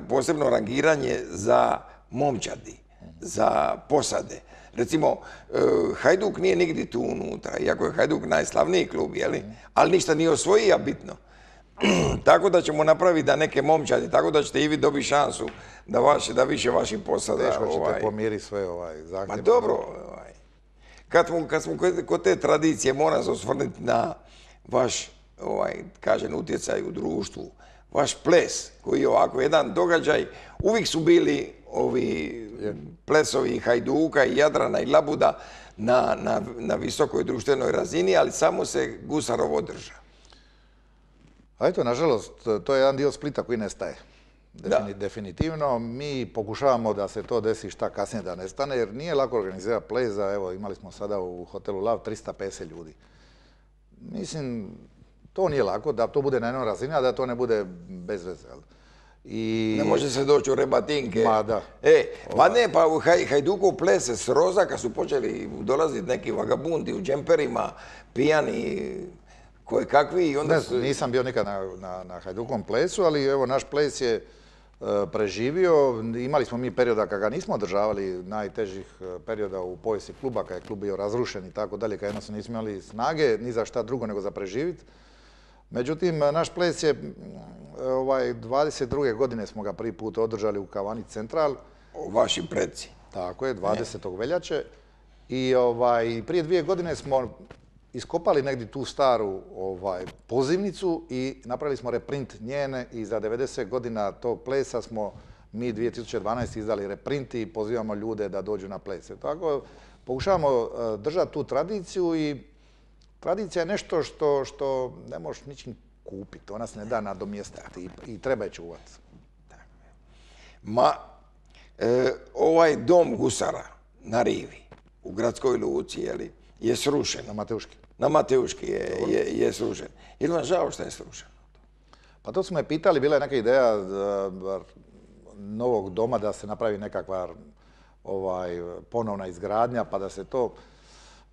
A: posebno rangiranje za momčadi, za posade. Recimo, Hajduk nije nigdje tu unutra, iako je Hajduk najslavniji klub, jeli? Ali ništa nije osvojio bitno. Tako da ćemo napraviti da neke momčadi, tako da ćete i vi dobiti šansu da više vaših posada...
B: Teško ćete pomiriti sve zahtjeve.
A: Pa dobro, kad smo kod te tradicije, moram se osvrnuti na vaš, kažem, utjecaj u društvu, vaš ples, koji je ovako jedan događaj, uvijek su bili ovi plesovi Hajduka i Jadrana i Labuda na visokoj društvenoj razini, ali samo se Gusarov održa.
B: A eto, nažalost, to je jedan dio Splita koji nestaje. Definitivno. Mi pokušavamo da se to desi šta kasnije da nestane, jer nije lako organizirati ples. Evo, imali smo sada u hotelu Lav 350 ljudi. Mislim, to nije lako, da to bude na jednoj razini, a da to ne bude bez veze.
A: Ne može se doći u rebatinke.
B: Ma da.
A: Pa ne, pa u Hajdukov ples se sroza kad su počeli dolaziti neki vagabundi u džemperima, pijani, koje kakvi.
B: Nisam bio nikad na Hajdukovom plesu, ali evo, naš ples je preživio. Imali smo mi perioda kad ga nismo održavali, najtežih perioda u povijesti kluba, kad je klub bio razrušen i tako dalje, kad jednostavno nismo imali snage ni za šta drugo nego za preživiti. Međutim, naš ples je 22. godine smo ga prvi put održali u Kavani Central.
A: Vaši preci.
B: Tako je, 20. veljače. I prije 2 godine smo iskopali negdje tu staru pozivnicu i napravili smo reprint njene i za 90 godina tog plesa smo mi 2012. izdali reprint i pozivamo ljude da dođu na plese. Tako pokušavamo držati tu tradiciju i tradicija je nešto što ne možeš ničim kupiti, ona se ne da nadomjestiti i treba je čuvati.
A: Ovaj dom Gusara na Rivi, u gradskoj luci, je srušen.
B: Na Mateuški.
A: Na Mateuški je srušen. Je li vam žao što je srušen?
B: Pa to su me pitali, bila je neka ideja novog doma da se napravi nekakva ponovna izgradnja, pa da se to...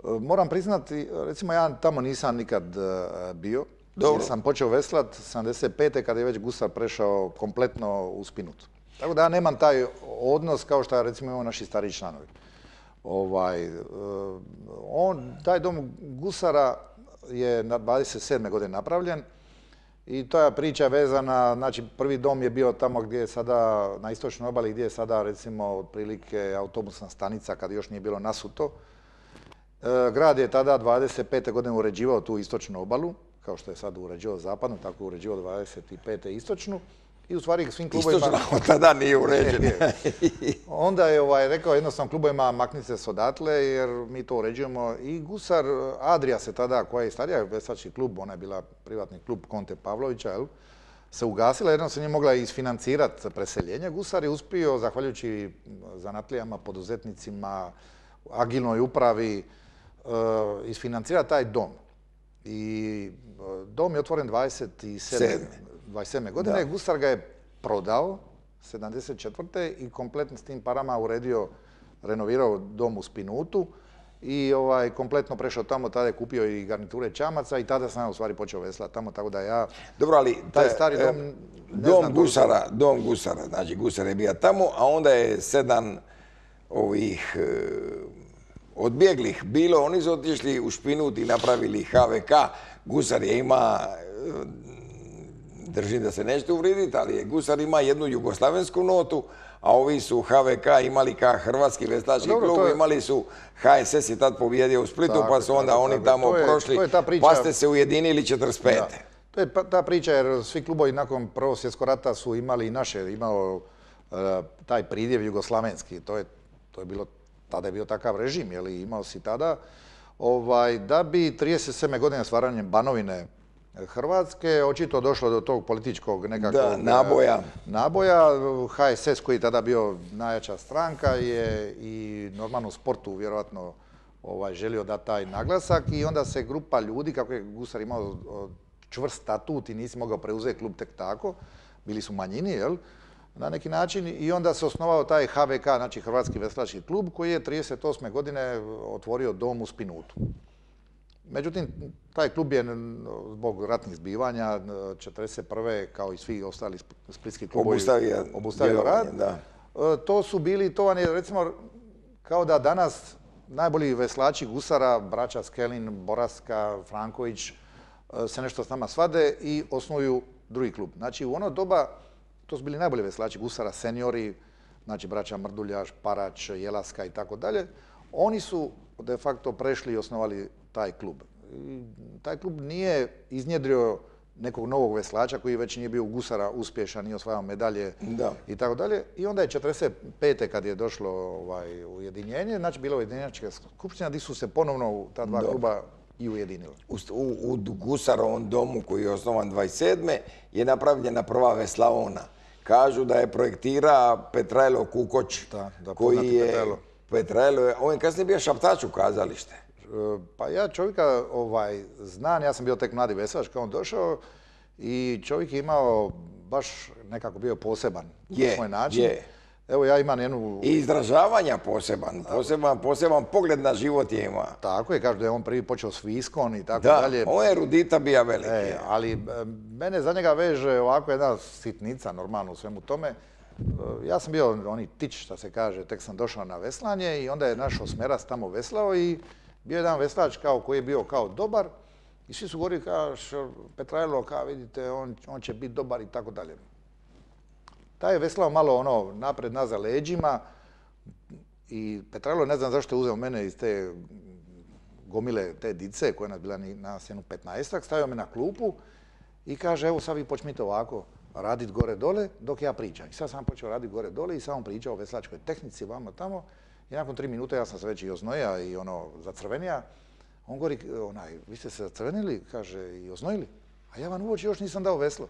B: Moram priznati, recimo ja tamo nisam nikad bio. Jer sam počeo veslat 75. kada je već Gusar prešao kompletno u Spinut. Tako da ja nemam taj odnos kao što recimo imamo naši stariji članovi. Taj dom Gusara je na 27. godine napravljen i to je priča vezana, znači prvi dom je bio tamo gdje je sada, na istočnoj obali, gdje je sada recimo otprilike autobusna stanica kad još nije bilo nasuto. Grad je tada 25. godine uređivao tu istočnu obalu, kao što je sad uređivao zapadnu, tako je uređivao 25. istočnu. I u stvari svim klubovima...
A: Istočna od tada nije uređena.
B: Onda je rekao jednostavno klubovima maknite se odatle jer mi to uređujemo. I Gusar, Adria se tada, koja je starija veslački klub, ona je bila privatni klub Konte Pavlovića, se ugasila, jedno se nije mogla isfinancirati preseljenje. Gusar je uspio, zahvaljujući zanatlijama, poduzetnicima, agilnoj upravi, isfinancirati taj dom. I dom je otvoren 27. godine. Gusar ga je prodao 74. i kompletno s tim parama uredio, renovirao dom u Spinutu i kompletno prešao tamo, tada je kupio i garniture čamaca i tada sam ja u stvari počeo veslati tamo, tako da ja...
A: Dobro, ali
B: taj stari dom...
A: Dom Gusara, znači Gusar je bio tamo, a onda je 7 ovih odbjeglih bilo, oni su otišli u Špinut i napravili HVK. Gusar je ima, držim da se nećete uvriditi, ali Gusar ima jednu jugoslavensku notu, a ovi su HVK imali kao Hrvatski veslački klub, imali su HSS je tad pobjedio u Splitu, pa su onda oni tamo prošli, pa ste se ujedinili 45.
B: To je ta priča jer svi klubovi nakon Prvog svjetskog rata su imali i naše, imao taj pridjev jugoslavenski, to je bilo, tada je bio takav režim, imao si tada, da bi 37. godine stvaranjem Banovine Hrvatske očito došlo do tog političkog nekakvog naboja. HSS koji je tada bio najjača stranka je i normalno u sportu vjerojatno želio dati taj naglasak i onda se grupa ljudi, kako je Gusar imao čvrst statut i nisi mogao preuzeti klub tek tako, bili su manjini, na neki način i onda se osnovao taj HVK, znači Hrvatski veslački klub, koji je 38. godine otvorio dom u Spinutu. Međutim, taj klub je zbog ratnih zbivanja 1941. kao i svi ostali splitski klubovi obustavio rad. To su bili, to vam je recimo kao da danas najbolji veslači gusara, braća Skelin, Boraska, Franković, se nešto s nama svade i osnuju drugi klub. Znači u ono doba, to su bili najbolji veslači gusara, seniori, znači braća Mrduljaš, Parač, Jelaska i tako dalje. Oni su de facto prešli i osnovali taj klub. I taj klub nije iznjedrio nekog novog veslača koji već nije bio u gusara uspješan, nije osvajao medalje i tako dalje. I onda je 45. kad je došlo ujedinjenje, znači bila ujedinjačka skupština gdje su se ponovno ta dva kluba i ujedinila.
A: U Gusarovom domu koji je osnovan 27. je napravljena prva veslaona. Kažu da je projektira Petrajlo Kukoč, koji je... Petrajlo, on je kasnije bio šaptač u kazalište.
B: Pa ja čovjeka znam, ja sam bio tek mladi veslač kad on došao i čovjek je imao baš nekako bio poseban na svoj način. Evo ja imam jednu...
A: I izražavanja poseban pogled na život je ima.
B: Tako je, kažu da je on prvi počeo s viskom i tako dalje.
A: Da, on je erudita bija veliki.
B: Ali mene za njega veže ovako jedna sitnica normalno u svemu tome. Ja sam bio oni tič, što se kaže, tek sam došao na veslanje i onda je naš osmerac tamo veslao i bio je jedan veslač koji je bio kao dobar i svi su govorili kao Petrajlo, kao vidite, on će biti dobar i tako dalje. Taj je veslao malo napred nazad leđima i Petrajlo, ne znam zašto je uzeo mene iz te gomile, te dice koja je bila na jednu 15-ak, stavio me na klupu i kaže, evo sad vi počnite ovako raditi gore dole dok ja pričam. I sad sam počeo raditi gore dole i sam pričao o veslačkoj tehnici, vamo tamo. I nakon 3 minute ja sam se već i oznoja i zacrvenija. On govori, vi ste se zacrvenili, kaže, i oznojili. A ja vam uoči još nisam dao veslo.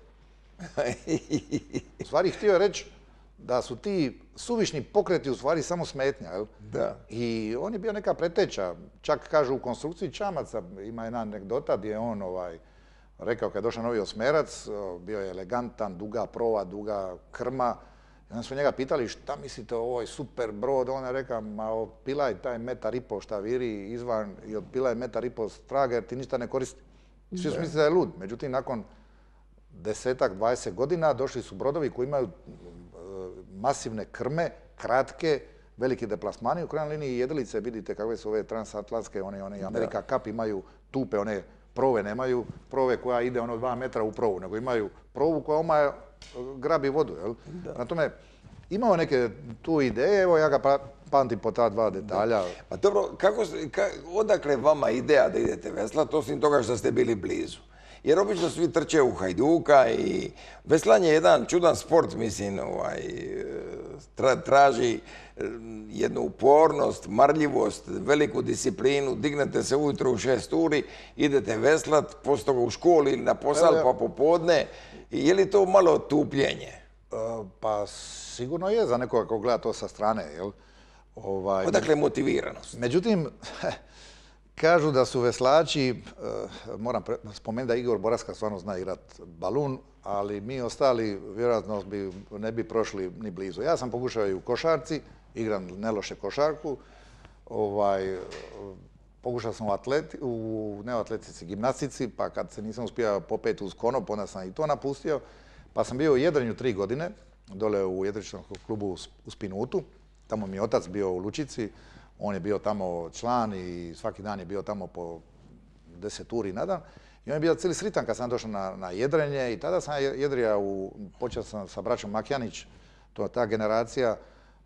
B: U stvari htio je reći da su ti suvišni pokreti u stvari samo smetnja, jel?
A: Da.
B: I on je bio neka preteča. Čak kažu u konstrukciji čamaca, ima jedna anegdota gdje je on rekao kad je došao novi osmerac, bio je elegantan, duga prova, duga krma. I onda smo njega pitali šta mislite o ovoj super brod, on je rekao, ma opilaj taj 1,5 m šta viri izvan i opilaj 1,5 m straga jer ti ništa ne koristi. Svi su mislili da je lud, međutim nakon 10-ak, 20 godina došli su brodovi koji imaju masivne krme, kratke, veliki deplasmani, u krajnjoj liniji jedilice, vidite kakve su ove transatlantske, one Amerika Cup imaju tupe, one prove nemaju, prove koja ide 2 metra u provu, nego imaju provu koja grabi vodu, jel? Na tome, imao neke tu ideje, evo ja ga pamtim po ta dva detalja.
A: Pa dobro, odakle vama ideja da idete veslat, osim toga što ste bili blizu? Jer obično svi trče u Hajduka i veslanje je jedan čudan sport, mislim, traži jednu upornost, marljivost, veliku disciplinu, dignete se ujutro u 6 uri, idete veslat, poslije toga u školi ili na posao pa popodne. Je li to malo tupljenje?
B: Pa sigurno je za nekoga ko gleda to sa strane, jel?
A: Odakle motiviranost?
B: Međutim, kažu da su veslači, moram spomenuti da Igor Boraska stvarno zna igrat balun, ali mi ostali vjerojatno ne bi prošli ni blizu. Ja sam pokušao i u košarci, igram neloše košarku, pokušao sam ne u atletici, gimnastici, pa kad se nisam uspio popeti uz konop, onda sam i to napustio, pa sam bio u jedrenju 3 godine, dole u jedričnom klubu u Spinutu, tamo mi je otac bio u Lučici, on je bio tamo član i svaki dan je bio tamo po 10 uri na dan. I on je bio cijeli sritan kad sam došao na jedrenje i tada sam jedrio, počeo sam sa braćom Makjanić, to je ta generacija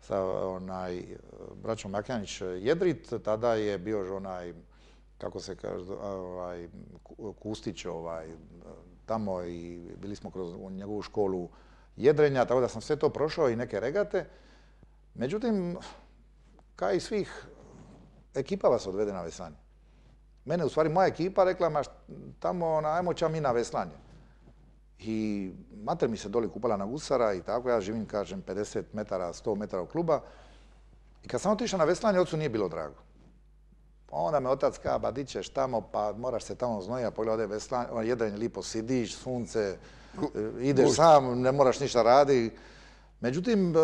B: sa braćom Makjanić jedrit, tada je bio kako se kaže, Kustić tamo i bili smo kroz njegovu školu jedrenja, tako da sam sve to prošao i neke regate. Međutim, kao i svih, ekipa vas odvede na veslanje. Mene, u stvari, moja ekipa rekla, ma tamo, ajmo ćemo mi na veslanje. I mater mi se doli kupala na gusara i tako, ja živim, kažem, 50 metara, 100 metara od kluba. I kad sam otišao na veslanje, ocu nije bilo drago. Onda me otac kaže, ba di ćeš tamo, pa moraš se tamo znojiti, pogledaj veslanje, jedrenje lipo sidiš, sunce, ideš sam, ne moraš ništa raditi. Međutim,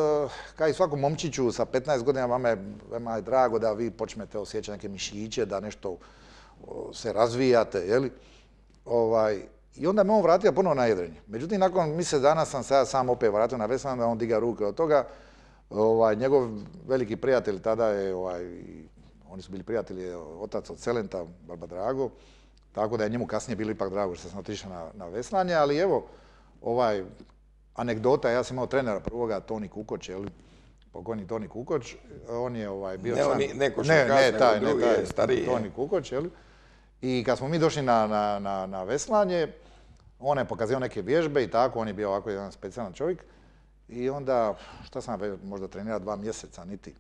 B: kao i svakom momčiću sa 15 godina, vama je drago da vi počnete osjećati neke mišiće, da nešto se razvijate, jeli? I onda me on vratio ponovo na jedrenje. Međutim, nakon mjesec dana sam se ja sam opet vratio na veslanje, da on diga ruke od toga. Njegov veliki prijatelj tada je, Oni su bili prijatelji, otac od Celenta, Barba Drago, tako da je njemu kasnije bilo ipak drago što sam otišao na veslanje, ali evo, anegdota, ja sam imao trenera prvoga, Toni Kukoč, pokojni Toni Kukoč, on je bio član...
A: Neko što kasnije, taj drugi je stariji.
B: Toni Kukoč, i kad smo mi došli na veslanje, on je pokazio neke vježbe i tako, on je bio ovako jedan specijalan čovjek. I onda, šta sam možda trenirao 2 mjeseca, niti.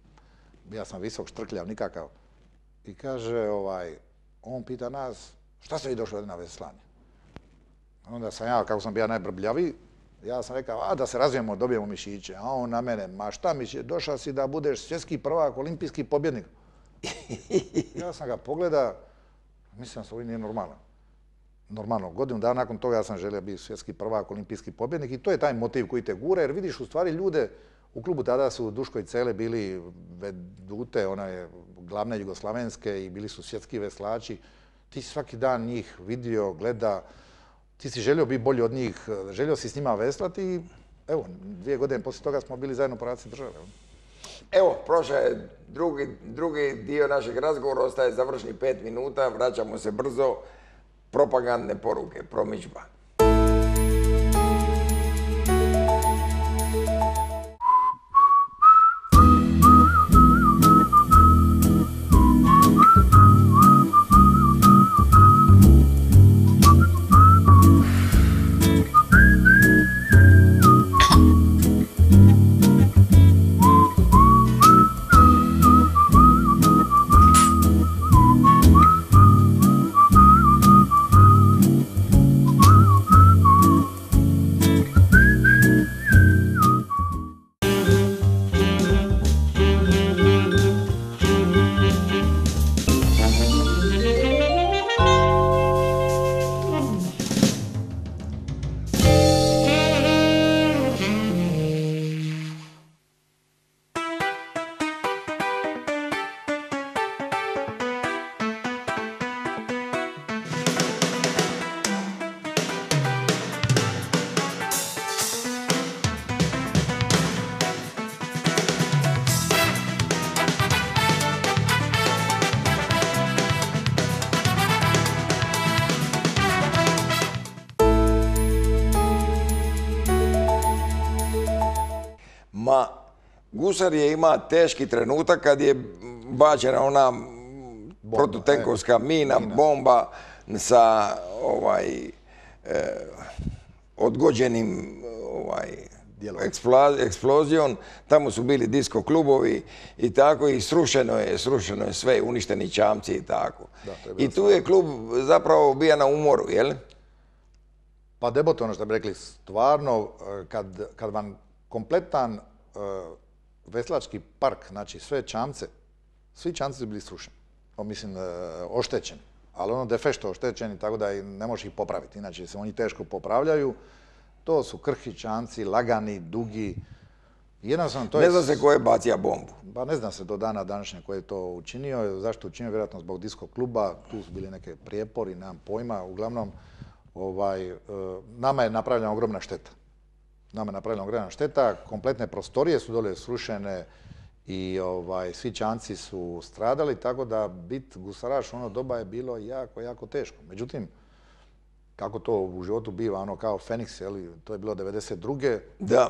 B: Ja sam visok, štrkljav, nikakav. I kaže, on pita nas, šta ste vi došli ovdje na veslanje? Onda sam ja, kako sam bio najbrbljaviji, ja sam rekao, da se razvijemo, dobijemo mišiće. A on na mene, ma šta mišiće, došao si da budeš svjetski prvak, olimpijski pobjednik. Ja sam ga pogledao, mislim da se ovo nije normalno. Normalno, godinu dana nakon toga ja sam želio biti svjetski prvak, olimpijski pobjednik i to je taj motiv koji te gura, jer vidiš u stvari ljude, u klubu tada su Duško i Cele bili vedute, glavne jugoslavenske i bili su svjetski veslači. Ti si svaki dan njih vidio, gleda, ti si želio biti bolji od njih, želio si s njima veslati i evo, 2 godine poslije toga smo bili zajedno po raciji države.
A: Evo, prošao je drugi dio našeg razgovora, ostaje završni 5 minuta, vraćamo se brzo. Propagandne poruke, promidžba. Gusar je ima teški trenutak kad je bačena ona protutenkovska mina, bomba sa odgođenim eksplozijom. Tamo su bili disko klubovi i tako i srušeno je sve, uništeni čamci i tako. I tu je klub zapravo bio na umoru, jel?
B: Pa debot, ono što bi rekli, stvarno, kad vam kompletan veslački park, znači sve čamce, svi čamci su bili srušeni, mislim, oštećeni, ali ono de facto oštećeni, tako da ne možeš ih popraviti, inače se oni teško popravljaju. To su krhki čamci, lagani, dugi.
A: Ne zna se ko je bacio bombu.
B: Pa ne zna se do dana današnje ko je to učinio, zašto učinio, vjerojatno zbog disko kluba, tu su bili neke prijepori, nemam pojma, uglavnom, nama je napravljena ogromna šteta. Kompletne prostorije su dole srušene i svi čamci su stradali, tako da biti gusaraš u ono doba je bilo jako, jako teško. Međutim, kako to u životu biva, kao Feniks, to je bilo 92.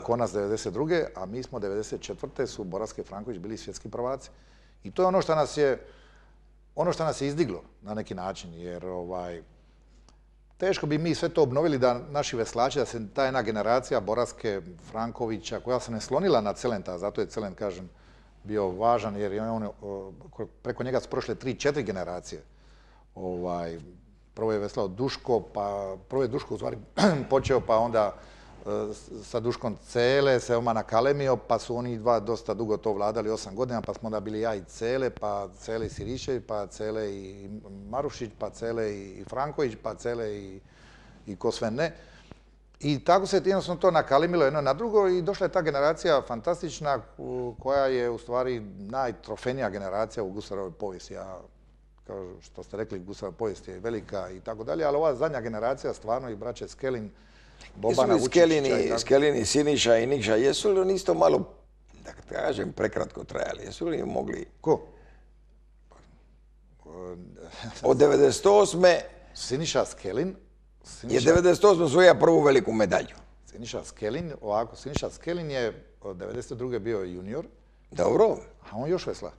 B: Konac 92. A mi smo 94. su Boraske Franković bili svjetski prvaci. I to je ono što nas je izdiglo na neki način, jer teško bi mi sve to obnovili da naši veslači, da se ta jedna generacija Boraske, Frankovića, koja se ne slonila na Celenta, zato je Celent, kažem, bio važan, jer je preko njega su prošle 3-4 generacije. Prvo je veslao Duško, prvo je Duško u stvari počeo, pa onda sa Duškom Cele se nakalemio, pa su oni dva dosta dugo to vladali, 8 godina, pa smo onda bili ja i Cele, pa Cele i Sirišević, pa Cele i Marušić, pa Cele i Franković, pa Cele i ko sve ne. I tako se jednostavno to nakalimilo jedno na drugo i došla je ta generacija fantastična koja je u stvari najtrofejnija generacija u gusarovoj povijesti. Kao što ste rekli, gusarova povijest je velika i tako dalje, ali ova zadnja generacija stvarno i braće Skelin, Bobana Vučića.
A: Skelini, Siniša i Nikša, jesu li oni isto malo, da kažem, prekratko trajali? Jesu li mogli...
B: Ko?
A: Od 98.
B: Siniša Skelin
A: je 98. osvojio prvu veliku medalju.
B: Siniša Skelin je od 92. bio junior,
A: Dobro.
B: a on još vesla.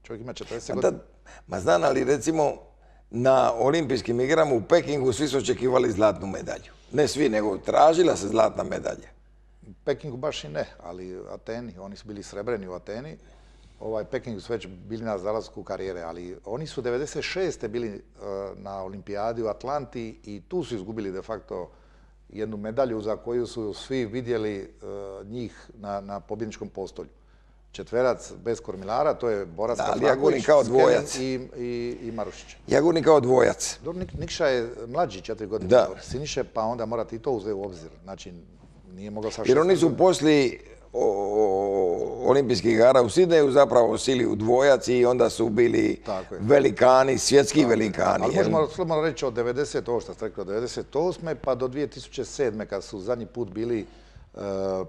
B: Čovjek ima 40 godina.
A: Ma znam, ali recimo na olimpijskim igrama u Pekingu svi su očekivali zlatnu medalju. Ne svi, nego tražila se zlatna medalja.
B: U Pekingu baš i ne, ali Ateni, oni su bili srebreni u Ateni. Pekingu su već bili na zalasku karijere, ali oni su 96. bili na olimpijadi u Atlanti i tu su izgubili de facto jednu medalju za koju su svi vidjeli njih na pobjedničkom postolju. Četverac bez kormilara, to je Boras Kazlaković, Skelin i Marušić.
A: Jagurni kao dvojac.
B: Nikša je mlađi 4 godine od Siniše, pa onda morate i to uzeti u obzir. Znači, nije mogao sa 6.
A: Jer oni su poslije olimpijskih igara u Sidneju zapravo sili u dvojac i onda su bili velikani, svjetski velikani.
B: Ali možemo slobodno reći od 90, ovo što ste rekli, od 98. pa do 2007. kad su zadnji put bili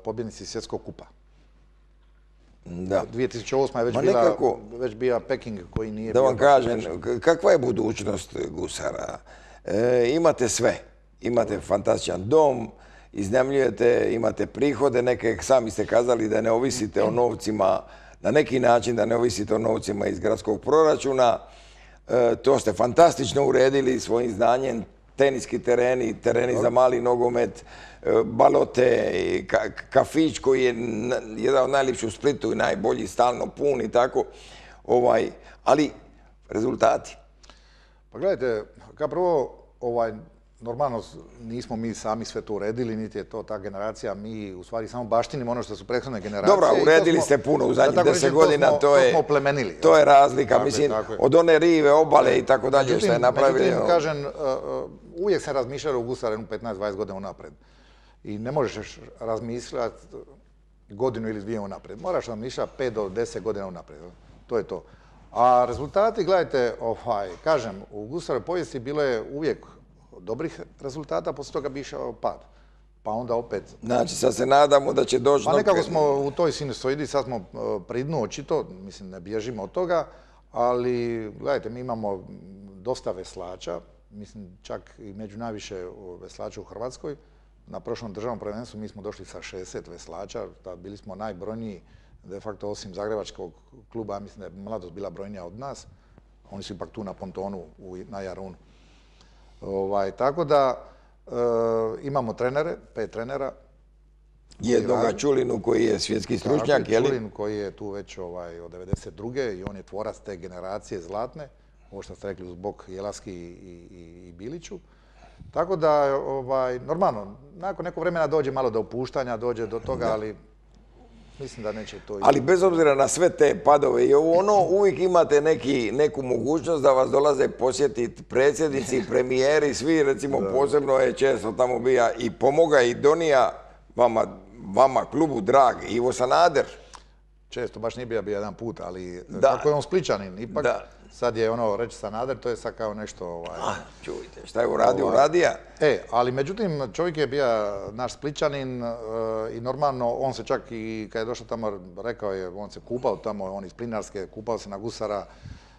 B: pobjednici svjetskog kupa.
A: Da.
B: 2008. je već bio Peking koji nije bio...
A: Da vam kažem, kakva je budućnost gusara? Imate sve. Imate fantastičan dom, iznajmljujete, imate prihode neke, sami ste kazali da ne ovisite o novcima, na neki način da ne ovisite o novcima iz gradskog proračuna. To ste fantastično uredili svojim znanjem, teniski tereni za mali nogomet, balote, kafić koji je jedan od najljepših u Splitu i najbolji, stalno pun i tako. Ali rezultati.
B: Pa gledajte, kao prvo, normalno nismo mi sami sve to uredili, niti je to ta generacija, mi u stvari samo baštinimo ono što su prethodne generacije.
A: Dobro, uredili ste puno u zadnjih 10 godina, to je razlika, mislim, od one rive, obale i tako dalje što je napravili.
B: Međutim, kažem, uvijek sam razmišljao u gusarenu 15-20 godina unapred. I ne možeš razmišljati godinu ili dvije unapred. Moraš razmišljati 5 do 10 godina unapred. To je to. A rezultati, gledajte, kažem, u gusarovoj povijesti bilo je uvijek dobrih rezultata, poslije toga bi išao pad. Pa onda opet...
A: Znači, sad se nadamo da će doći...
B: Pa nekako smo u toj sinusoidi, sad smo pri dnu očito, mislim, ne bježimo od toga, ali, gledajte, mi imamo dosta veslača, mislim, čak i među najviše veslača u Hrvatskoj. Na prošlom državnom prvenstvu mi smo došli sa 60 veslača, bili smo najbrojniji, de facto osim Zagrebačkog kluba, mislim da je Mladost bila brojnija od nas. Oni su ipak tu na pontonu, na Jarunu. Tako da imamo trenere, 5 trenera.
A: Jednoga Čulinu koji je svjetski stručnjak, je li?
B: Čulin koji je tu već od 92. i on je tvorac te generacije zlatne, ovo što ste rekli uz bok Jelaski i Biliću. Tako da, normalno, nakon nekog vremena dođe malo do opuštanja, dođe do toga, ali mislim da neće to...
A: Ali bez obzira na sve te padove i uvijek imate neku mogućnost da vas dolaze posjetiti predsjednici, premijeri, svi, recimo posebno je često tamo bija i pomoga i donija vama klubu drag, Ivo Sanader.
B: Često, baš nije bio jedan put, ali kako je on Spličanin, ipak sad je reći Sanader, to je sad kao nešto...
A: Čujte, šta je uradio?
B: Ali međutim, čovjek je bio naš Spličanin i normalno, on se čak i kad je došao tamo, rekao je, on se kupao tamo, on iz Plinarske, kupao se na gusara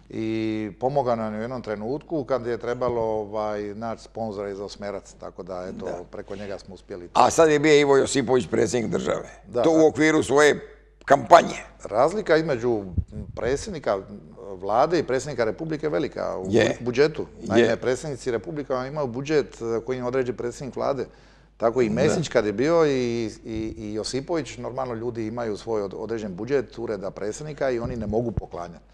B: i pomogao nam u jednom trenutku kad je trebalo naći sponzora za Osmerac, tako da, eto, preko njega smo uspjeli.
A: A sad je bio Ivo Josipović, predsjednik države. To u okviru svoje kampanje.
B: Razlika između predsjednika vlade i predsjednika Republike je velika u budžetu. Naime, predsjednici Republika imaju budžet koji im određe predsjednik vlade. Tako i Mesić kad je bio i Josipović, normalno ljudi imaju svoj određen budžet ureda predsjednika i oni ne mogu poklanjati.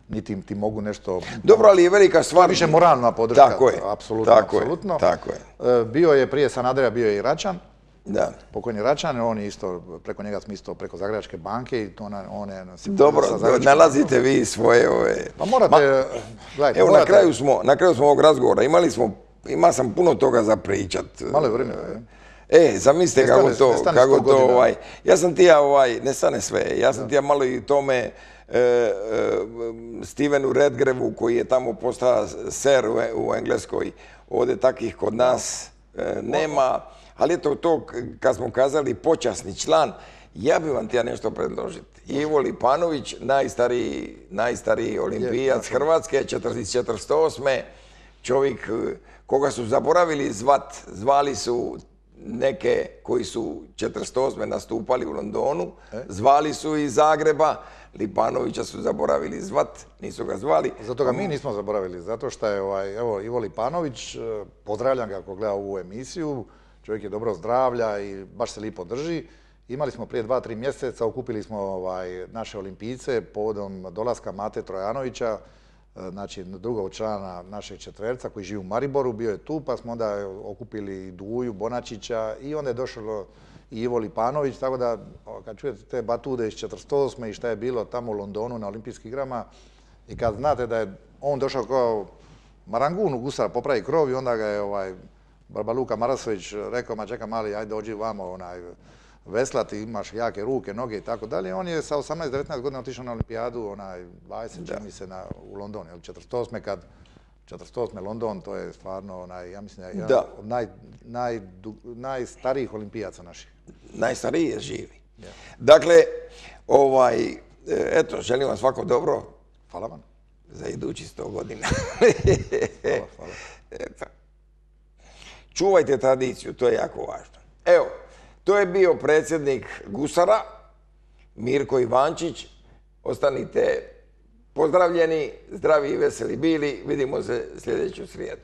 B: Niti ti mogu nešto...
A: Dobro, ali je velika stvar...
B: Više moralna podrška.
A: Tako je.
B: Apsolutno.
A: Tako
B: je. Bio je prije Sanadera, bio je i Račan.
A: Da.
B: Pokojni Račan, on je isto, preko njega smo isto preko Zagrebačke banke i on je...
A: Dobro, nalazite vi svoje
B: Pa morate, gledajte...
A: Evo, na kraju smo ovog razgovora, imao sam puno toga za pričat.
B: Malo je vremena.
A: Zamislite kako to, ja sam tija, ne stane sve, ja sam tija malo i tome Stevenu Redgrevu koji je tamo postao ser u Engleskoj, ovdje takvih kod nas nema. Ali eto to, kad smo kazali počasni član, Ja bi vam htio nešto predložiti. Ivo Lipanović, najstariji olimpijac Hrvatske, iz 1948. Čovjek koga su zaboravili zvali su neke koji su 1948. nastupali u Londonu, zvali su iz Zagreba, Lipanovića su zaboravili zvat, nisu ga zvali.
B: Zato ga mi nismo zaboravili, zato što je evo, Ivo Lipanović, pozdravljam ga ako gleda ovu emisiju, čovjek je dobro zdravlja i baš se lipo drži. Imali smo prije 2-3 mjeseca, okupili smo naše olimpijce povodom dolaska Mate Trojanovića, znači drugog člana našeg četverca koji živi u Mariboru, bio je tu, pa smo onda okupili Duju, Bonačića i onda je došlo i Ivo Lipanović, tako da kad čujete te batude iz 1948. i šta je bilo tamo u Londonu na olimpijskim igrama i kad znate da je on došao kao Marangun u gusara popravi krov i onda ga je Barba Luka Marasović rekao, ma čeka mali, ajde dođi vamo veslati, imaš jake ruke, noge i tako dalje. On je sa 18-19 godina otišao na olimpijadu, 20 čini mi se u London, 48. kad 48. London, to je stvarno, ja mislim, jedan od najstarijih olimpijaca naših.
A: Najstariji je živi. Dakle, eto, želim vam svako dobro.
B: Hvala vam.
A: Za idući 100 godina.
B: Hvala.
A: Eto. Čuvajte tradiciju, to je jako važno. Evo, to je bio predsjednik Gusara, Mirko Ivančić. Ostanite pozdravljeni, zdravi i veseli bili. Vidimo se sljedeću srijedu.